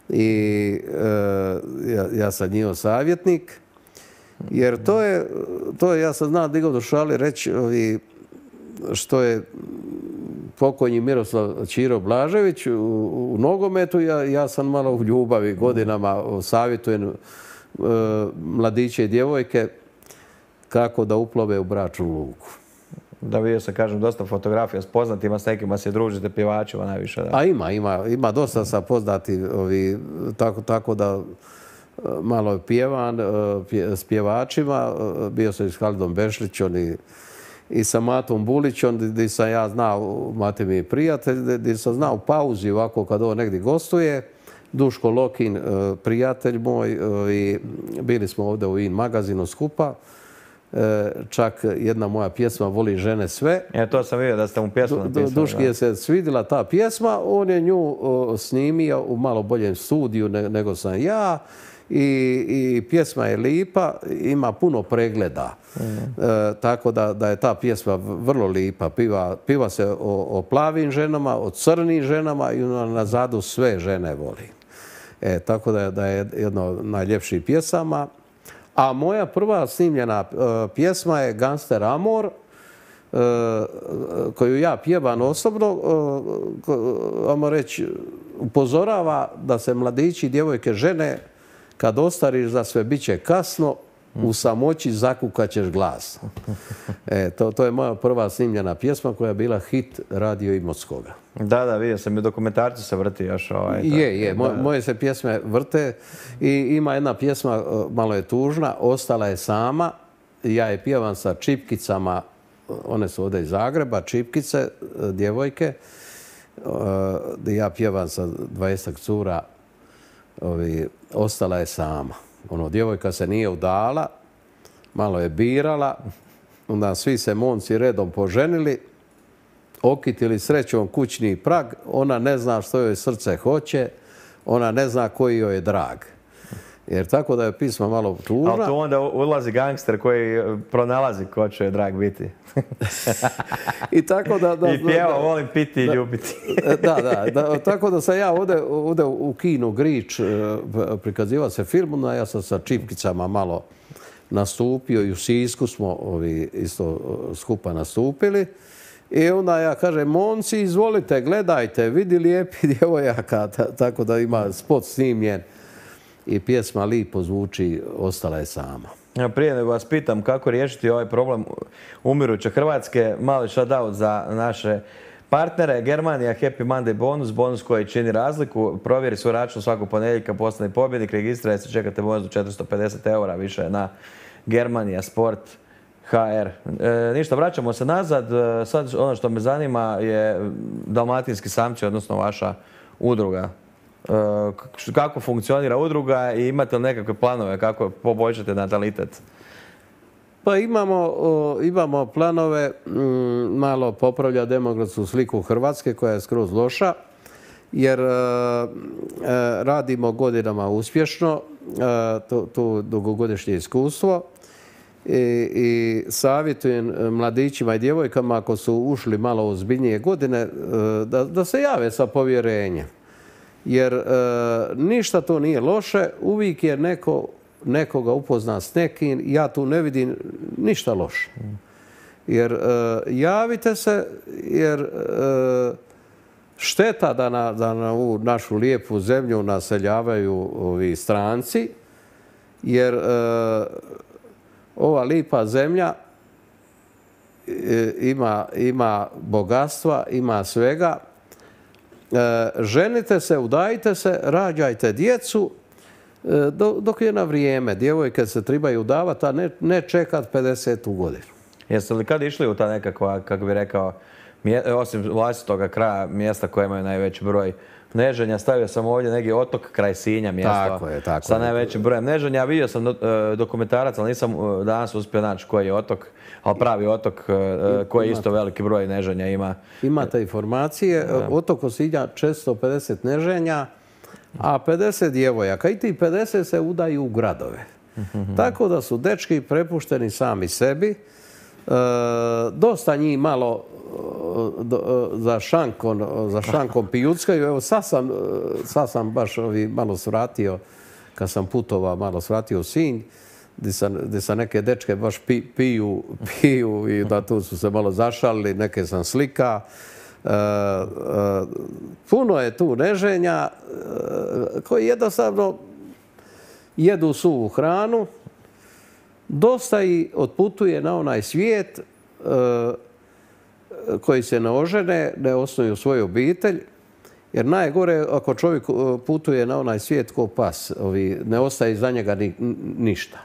i ja sam njihov savjetnik, jer to je ja sam znao digao do šali reći što je pokojni Miroslav Ćiro Blažević u nogometu, ja sam malo u ljubavi godinama savjetujem mladiće i djevojke kako da uplove u bračnu luku. Da, vidio sam, kažem, dosta fotografija s poznatima, s nekima se družite, pjevačima najviše. Da. A ima dosta sa poznati, tako da malo pjevan s pjevačima. Bio sam i s Halidom Bešlićom i sa Matom Bulićom, gdje sam ja znao, Mate mi je prijatelj, gdje sam znao u pauzi ovako kad ovo negdje gostuje. Duško Lokin, prijatelj moj, i bili smo ovdje u IN magazinu skupa. Čak jedna moja pjesma Voli žene sve. To sam vidio da ste mu pjesmu napisali. Duški je se svidjela ta pjesma, on je nju snimio u malo boljem studiju nego sam ja i pjesma je lipa, ima puno pregleda. Tako da je ta pjesma vrlo lipa. Piva se o plavim ženama, o crnim ženama i nazadu sve žene voli. Tako da je jedna od najljepših pjesama. A moja prva snimljena pjesma je Gangster Amor, koju ja pjevam osobno, ajmo reći, upozorava da se mladići i djevojke žene, kad ostariš za sve bit će kasno, u samoći zakukat ćeš glas. To je moja prva snimljena pjesma koja je bila hit Radio Imotskoga. Da, vidio sam i dokumentarci se vrti još. Moje se pjesme vrte i ima jedna pjesma, malo je tužna, Ostala je sama. Ja je pjevam sa čipkicama, one su ovdje iz Zagreba, čipkice, djevojke. Ja pjevam sa 20 cura, Ostala je sama. Djevojka se nije udala, malo je birala, onda svi se momci redom poženili, okitili srećom kućni prag, ona ne zna što joj srce hoće, ona ne zna koji joj je drag. Jer tako da je pisma malo tužna. Ali tu onda ulazi gangster koji pronalazi ko će drag biti. I tako da I pjeva volim piti i ljubiti. Tako da sam ja ovdje u kinu Grič prikazivao se film, ja sam sa čipkicama malo nastupio i u Sisku smo isto skupa nastupili. I onda ja kažem, momci, izvolite, gledajte, vidi lijepi djevojaka, tako da ima spot snimljen i pjesma lipo zvuči, ostala je sama. Prije nego vas pitam kako riješiti ovaj problem umiruće Hrvatske, mali shout-out za naše partnere. Germanija Happy Monday bonus, bonus koji čini razliku. Provjeri svoj račun svakog ponedjeljka, postani pobjednik, registrajte se, čekate bonus do 450 € više na Germanija Sport HR. Ništa, vraćamo se nazad. Sad ono što me zanima je Dalmatinski samci, odnosno vaša udruga. Kako funkcionira udruga i imate li nekakve planove kako poboljšati natalitet? Pa imamo planove malo popravlja demografsku sliku Hrvatske koja je skroz loša, jer radimo godinama uspješno, to dugogodišnje iskustvo. I savjetujem mladićima i djevojkama ako su ušli malo u ozbiljnije godine da se jave sa povjerenjem. Jer ništa to nije loše, uvijek je nekoga upozna s nekim, ja tu ne vidim ništa loše. Jer javite se, jer šteta da na ovu našu lijepu zemlju naseljavaju ovi stranci, jer ova lipa zemlja ima bogatstva, ima svega. Ženite se, udajte se, rađajte djecu dok je na vrijeme. Djevojke se trebaju udavati, a ne čekat 50. godinu. Jeste li kad išli u ta nekakva, kako bi rekao, osim vlastitoga kraja, mjesta koje imaju najveći broj neženja, stavio sam ovdje neki otok kraj Sinja, mjesto sa najvećim brojem neženja. Vidio sam dokumentarac, ali nisam danas uspio naći koji je otok, ali pravi otok koji isto veliki broj neženja ima. Imate informacije, otok Osinja 450 neženja, a 50 djevojaka. I ti 50 se udaju u gradove. Tako da su dečki prepušteni sami sebi. Dosta njih malo za šankom pijuckaju. Evo sad sam baš malo svratio, kad sam putovao, malo svratio u Sinj, gdje sam neke dečke baš piju i da tu su se malo zašalili, neke sam slika. Puno je tu neženja koji jednostavno jedu suvu hranu. Dosta i otputuje na onaj svijet koji se ne ožene, ne osnuju svoju obitelj. Jer najgore ako čovjek putuje na onaj svijet ko pas, ne ostaje iza njega ništa.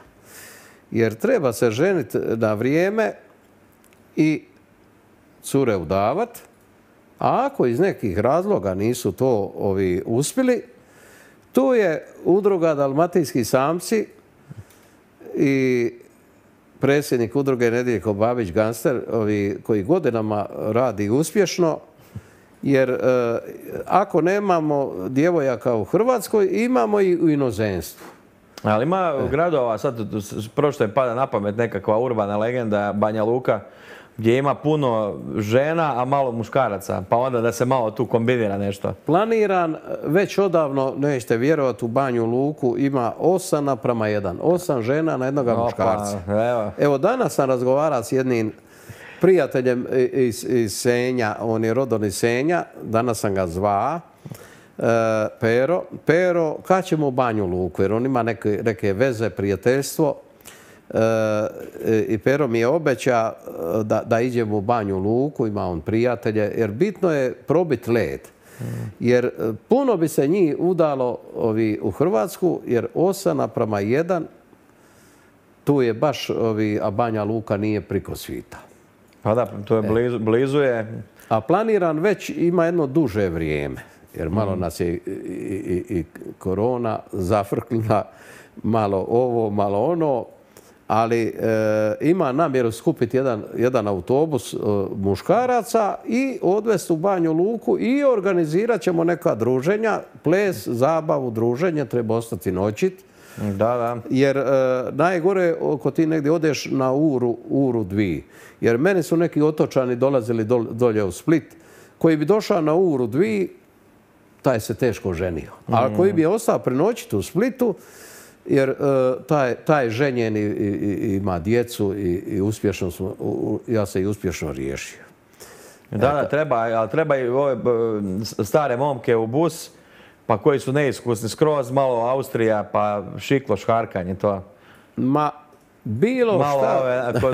Jer treba se ženiti na vrijeme i cure udavat, a ako iz nekih razloga nisu to uspjeli, tu je udruga Dalmatinski samci i predsjednik udruge Nediljko Babić Gangster, koji godinama radi uspješno, jer ako nemamo djevojaka u Hrvatskoj, imamo i u inozemstvu. Ali ima gradova, sad prošto je pada na pamet nekakva urbana legenda Banja Luka, gdje ima puno žena, a malo muškaraca, pa onda da se malo tu kombinira nešto. Planiran, već odavno, nećete vjerovati, u Banju Luku ima 8:1. 8 žena na jednoga muškarca. Evo, danas sam razgovarao s jednim prijateljem iz Senja, on je rodom iz Senja, danas sam ga zvao, Pero, kad ćemo u Banju Luku, jer on ima neke veze, prijateljstvo. I Pero mi je obeća da iđemo u Banju Luku, ima on prijatelje, jer bitno je probiti led. Jer puno bi se njih udalo u Hrvatsku, jer 8:1, tu je baš, a Banja Luka nije priko svita. Pa da, to je blizu je. A planiran već ima jedno duže vrijeme, jer malo nas je i korona zafrknula, malo ovo, malo ono. Ali ima namjeru skupiti jedan autobus muškaraca i odvesti u Banju Luku i organizirat ćemo neka druženja, ples, zabavu, druženje, treba ostati noćit. Da. Jer najgore ako ti negdje odeš na uru dvi. Jer meni su neki otočani dolazili dolje u Split, koji bi došao na uru dvi, taj se teško ženio. A koji bi ostao prenoćiti u Splitu, jer taj ženjen ima djecu i uspješno ja se i uspješno riješio. Da, treba i ove stare momke u bus, pa koji su neiskusni skroz, malo Austrija, pa šiklo, šharkanje, to. Bilo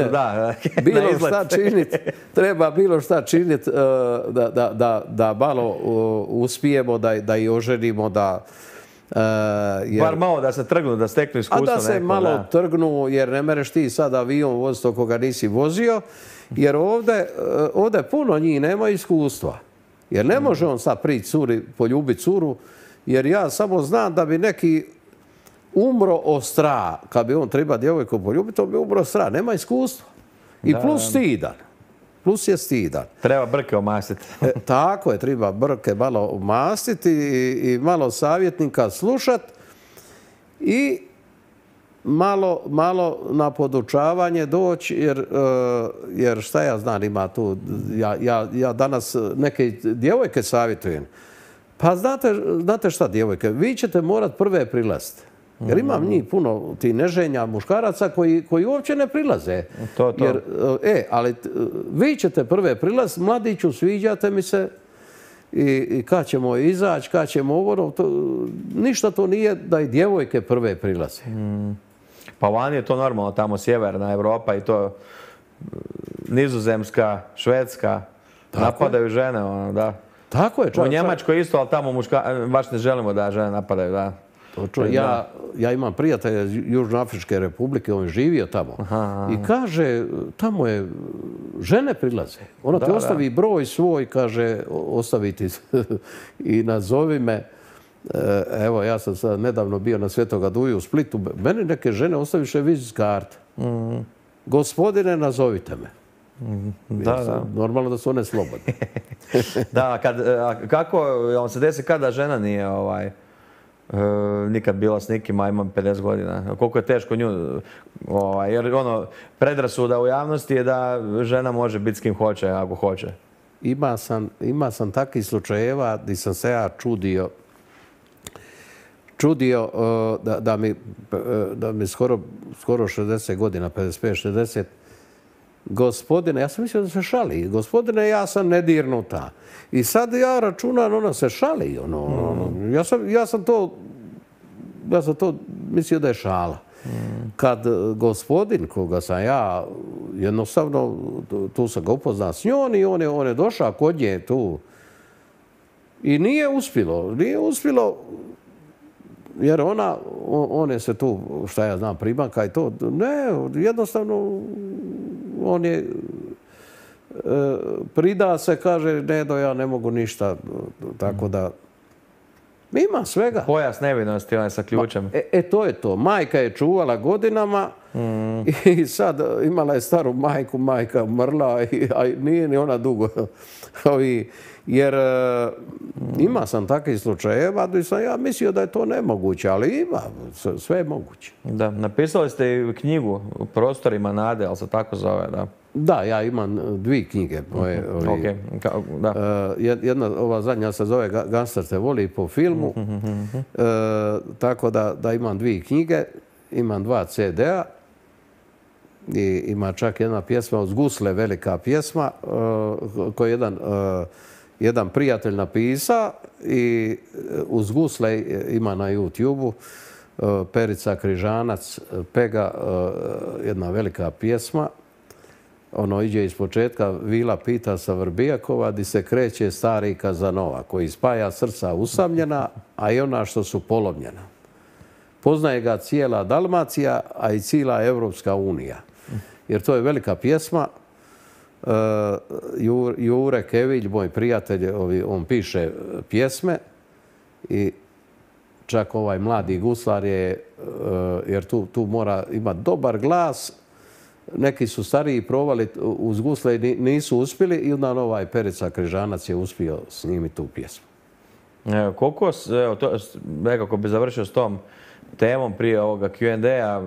šta, bilo šta činiti, treba bilo šta činiti da malo uspijemo, da i oženimo, da... Bar malo da se trgnu, da steknu iskustvo neko. A da se malo trgnu, jer ne mereš ti sad avion voziti ako ga nisi vozio, jer ovdje puno njih nema iskustva. Jer ne može on sad prići curi, poljubiti curu, jer ja samo znam da bi neki umro od straha. Kad bi on treba djevojku poljubiti, on bi umro od straha. Nema iskustva. I plus stidan. Plus je stidan. Treba brke omastiti. Tako je, treba brke malo omastiti i malo savjetnika slušat i malo na podučavanje doći, jer šta ja znam ima tu, ja danas neke djevojke savjetujem. Pa znate šta djevojke, vi ćete morat prve prilaziti. Jer imam njih puno ti neženja muškaraca koji uopće ne prilaze. Jer, ali vi ćete prve prilaziti, mladiću, sviđate mi se i kad ćemo izaći, kad ćemo ovo, ništa to nije da i djevojke prve prilaze. Pa vani je to normalno, tamo sjeverna Evropa i to Nizozemska, Švedska, napadaju žene, da. Tako je. U Njemačkoj isto, ali tamo baš ne želimo da žene napadaju, da. Ja imam prijatelja iz Južnoafričke republike, on je živio tamo. I kaže, tamo je, žene prilaze. Ona ti ostavi broj svoj, kaže, ostavi ti i nazovi me. Evo, ja sam sad nedavno bio na Svetoga Duju u Splitu. Meni neke žene ostaviše vizić karte. Gospodine, nazovite me. Normalno da su one slobodne. Da, kako on se desi kada žena nije nikad bila s nikim, a imam 50 godina. Koliko je teško nju, jer predrasuda u javnosti je da žena može biti s kim hoće, ako hoće. Ima sam takvih slučajeva gdje sam se ja čudio da mi skoro 60 godina, 55-60, gospodine, ja sam mislio da se šali, gospodine, ja sam nedirnuta. I sad ja računam, ona se šali. Ja sam to mislio da je šala. Kad gospodin, koga sam ja, jednostavno, tu sam ga upoznao s njom i on je došao kod nje tu. I nije uspjelo, jer on je se tu, šta ja znam, pribanka i to. Ne, jednostavno, on je prida se, kaže, ja ne mogu ništa, tako da ima svega. Pojas nevinosti, on je sa ključem. To je to. Majka je čuvala godinama i sad imala je staru majku, majka umrla, a nije ni ona dugo. Jer ima sam takvih slučajeva gdje sam ja mislio da je to nemoguće, ali ima, sve je moguće. Da, napisali ste i knjigu u Prostorima nade, ali se tako zove, da? Da, ja imam dvije knjige. Jedna, ova zadnja se zove Gangster te voli po filmu, tako da imam dvije knjige, imam 2 CD-a i ima čak jedna pjesma uz gusle, velika pjesma koju je jedan prijatelj napisa i uz gusle ima na YouTube-u Perica Križanac, Pega, jedna velika pjesma. Ono iđe iz početka, vila pita sa Vrbijakova, di se kreće stari Kazanova, koji spaja srca usamljena, a i ona što su polomljena. Poznaje ga cijela Dalmacija, a i cijela Evropska unija. Jer to je velika pjesma. Jure Kevilj, moj prijatelj, on piše pjesme i čak ovaj mladi guslar je, jer tu mora imati dobar glas. Neki su stariji probali uz gusle i nisu uspjeli i onda ovaj Perica Križanac je uspio snimiti tu pjesmu. Koliko, nekako bi završio s tom temom prije ovoga Q&A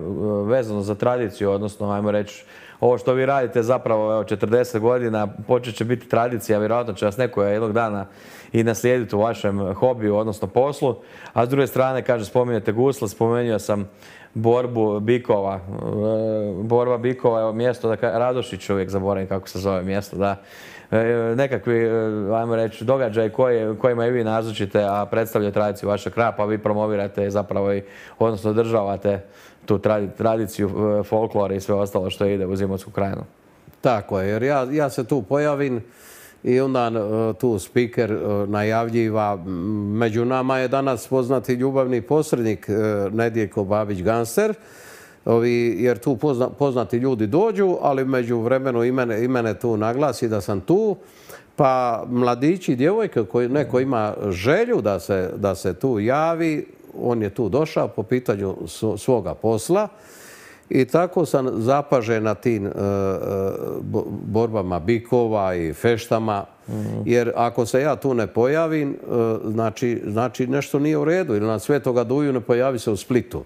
vezano za tradiciju, odnosno, ajmo reći, ovo što vi radite zapravo, evo, 40 godina, počet će biti tradicija, vjerojatno će vas neko jednog dana i naslijediti u vašem hobiju, odnosno poslu. A s druge strane, kaže, spominjete gusle, spomenuo sam borbu bikova. Borba bikova je mjesto, Radošić, uvijek zaboravim kako se zove mjesto, da. Nekakvi, ajmo reći, događaj kojima i vi nazočite, a predstavljaju tradiciju vašeg kraja, pa vi promovirate zapravo i, odnosno održavate tu tradiciju, folklora i sve ostalo što ide u Imotsku krajinu. Tako je, jer ja se tu pojavim i onda tu speaker najavljiva. Među nama je danas poznati ljubavni posrednik Nedjeljko Babić-Gangster, jer tu poznati ljudi dođu, ali među vremenu i mene tu naglasi da sam tu. Pa mladići i djevojke, neko ima želju da se tu javi, on je tu došao po pitanju svoga posla i tako sam zapažen na tim borbama bikova i feštama, jer ako se ja tu ne pojavim, znači nešto nije u redu, ili na Svetoga Duju ne pojavi se u Splitu.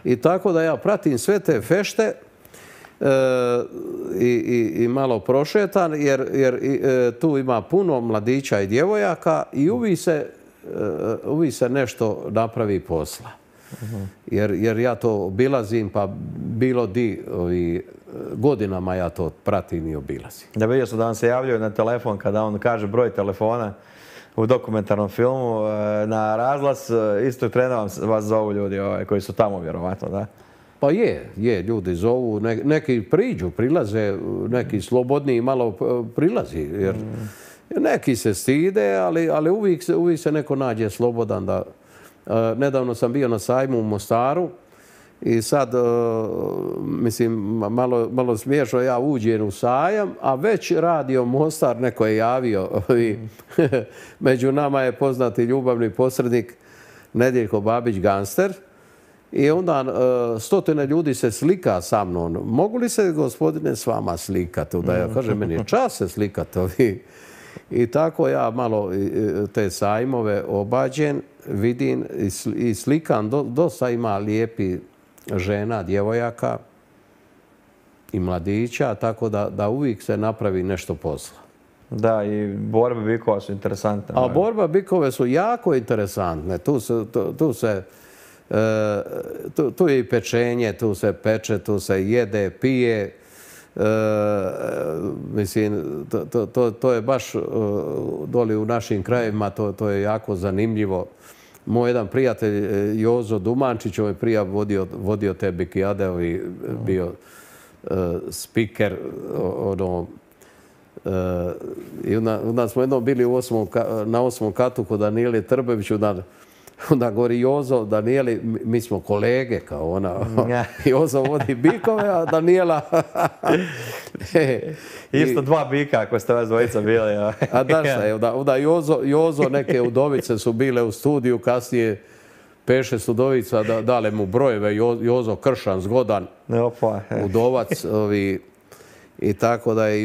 I tako da ja pratim sve te fešte i malo prošetan, jer tu ima puno mladića i djevojaka i uvijek se nešto napravi posla. Jer ja to obilazim, pa bilo di godinama ja to pratim i obilazim. Da, vidio sam da vam se javljaju na telefon kada on kaže broj telefona u dokumentarnom filmu na razglas. Isto trena vas zovu ljudi koji su tamo vjerovatno, da? Pa je, ljudi zovu, neki priđu, prilaze, neki slobodniji malo prilazi, jer neki se stide, ali uvijek se neko nađe slobodan da... Nedavno sam bio na sajmu u Mostaru i sad, mislim, malo smiješno, ja uđem u sajam, a već radio Mostar, neko je javio. Među nama je poznati ljubavni posrednik Nedjeljko Babić-Gangster i onda stotine ljudi se slika sa mnom. Mogu li se, gospodine, s vama slikati? Da ja kažem, meni je čast se slikati. I tako ja malo te sajmove obađen, vidim i slikam. Dosta ima lijepi žena, djevojaka i mladića, tako da uvijek se napravi nešto posla. Da, i borbe bikova su interesantne. A borba bikove su jako interesantne. Tu je i pečenje, tu se peče, tu se jede, pije. Mislim, to je baš doli u našim krajevima, to je jako zanimljivo. Moj jedan prijatelj Jozo Dumančić, on je prije vodio te bikijade i bio speaker. I onda smo jednom bili na 8. katu kod Danijeli Trbević, onda govori Jozo, Danijeli, mi smo kolege, kao ona. Jozo vodi bikove, a Danijela... Isto dva bika ako ste vas dvojica bili. A da šta je, onda Jozo, neke udovice su bile u studiju, kasnije 5-6 udovica dale mu brojeve, Jozo Kršan, zgodan, udovac, i tako da je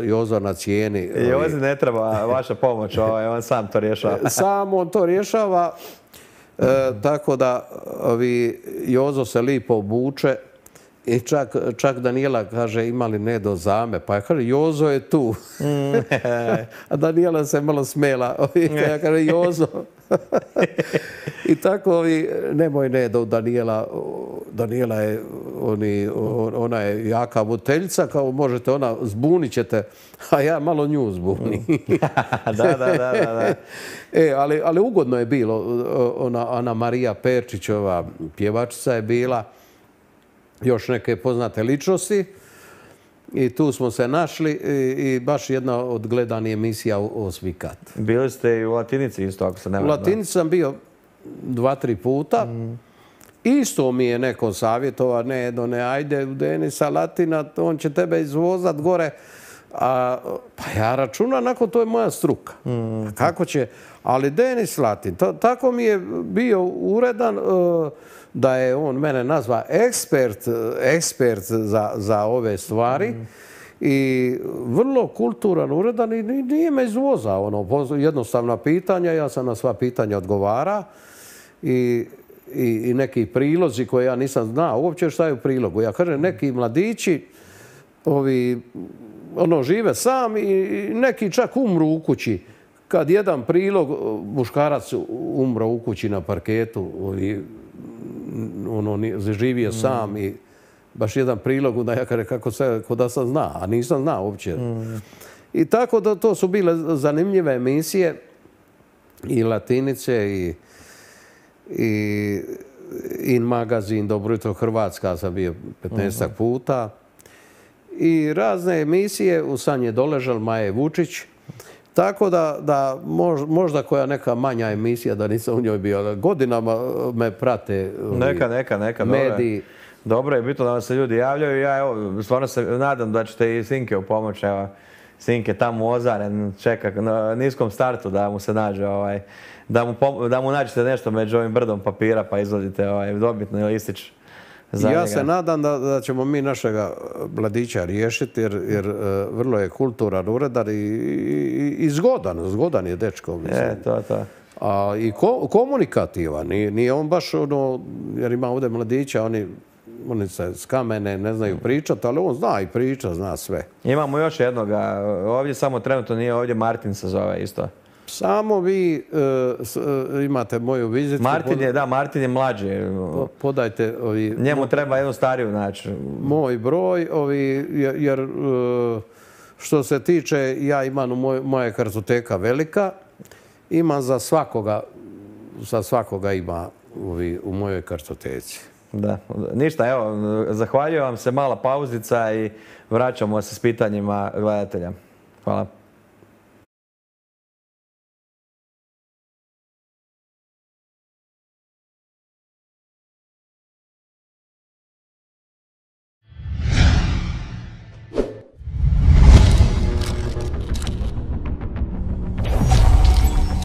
Jozo na cijeni. Jozi ne treba vaša pomoć, on sam to rješava. Sam on to rješava, tako da Jozo se lipo obuče i čak Danijela kaže ima li Nedo zame, pa ja kaže Jozo je tu. A Danijela se malo smela, ja kaže Jozo. I tako nemoj Nedo, Danijela je, ona je jaka buteljica, kao možete ona, zbunit ćete, a ja malo nju zbuni. Da. Ali ugodno je bilo, Ana Marija Perčićova pjevačica je bila, još neke poznate ličnosti i tu smo se našli i baš jedna od gledanih emisija Osmi kat. Bili ste i u Latinici isto, ako se ne varam. U Latinici sam bio 2-3 puta. Isto mi je neko savjetova, ne, ajde u Denisa Latina, on će tebe izvozat gore. Pa ja računam, nakon to je moja struka. Kako će, ali Denis Latin, tako mi je bio uredan da je on mene nazva ekspert za ove stvari i vrlo kulturan, uredan i nije me izvozao. Jednostavna pitanja, ja sam na sva pitanja odgovara i i neki prilozi koje ja nisam znao uopće šta je u prilogu. Ja kažem, neki mladići žive sam i neki čak umru u kući. Kad jedan prilog, muškarac umro u kući na parketu, živio sam i baš jedan prilog, onda ja kažem kako se, ko da sam zna, a nisam znao uopće. I tako da to su bile zanimljive emisije i Latinice i In magazin, Dobro jutro Hrvatska sam bio 15 puta. I razne emisije, u San je doležal Maje Vučić. Tako da možda koja neka manja emisija, da nisam u njoj bio, godinama me prate neka, mediji. Dobro je bitno da vam se ljudi javljaju. Ja evo, stvarno se nadam da ćete i Sinke u pomoć. Evo, Sinke tamo u Ozaren čeka na niskom startu da mu se nađe, da mu nađete nešto među ovim brdom papira pa izvadite dobitni listić. Ja se nadam da ćemo mi našega mladića riješiti jer vrlo je kulturan, uredan i zgodan je dečko. To. I komunikativan. Nije on baš jer ima ovdje mladića, oni se s kamene ne znaju pričati, ali on zna i priča, zna sve. Imamo još jednoga, ovdje samo trenutno nije ovdje, Martin se zove isto. Samo vi imate moju vizitku. Martin je mlađi. Podajte njemu treba jednu stariju naći. Moj broj, jer što se tiče, ja imam moja kartoteka velika, imam za svakoga ima u mojoj kartoteci. Da, ništa, evo, zahvaljujem vam se, mala pauzica i vraćamo se s pitanjima gledatelja. Hvala.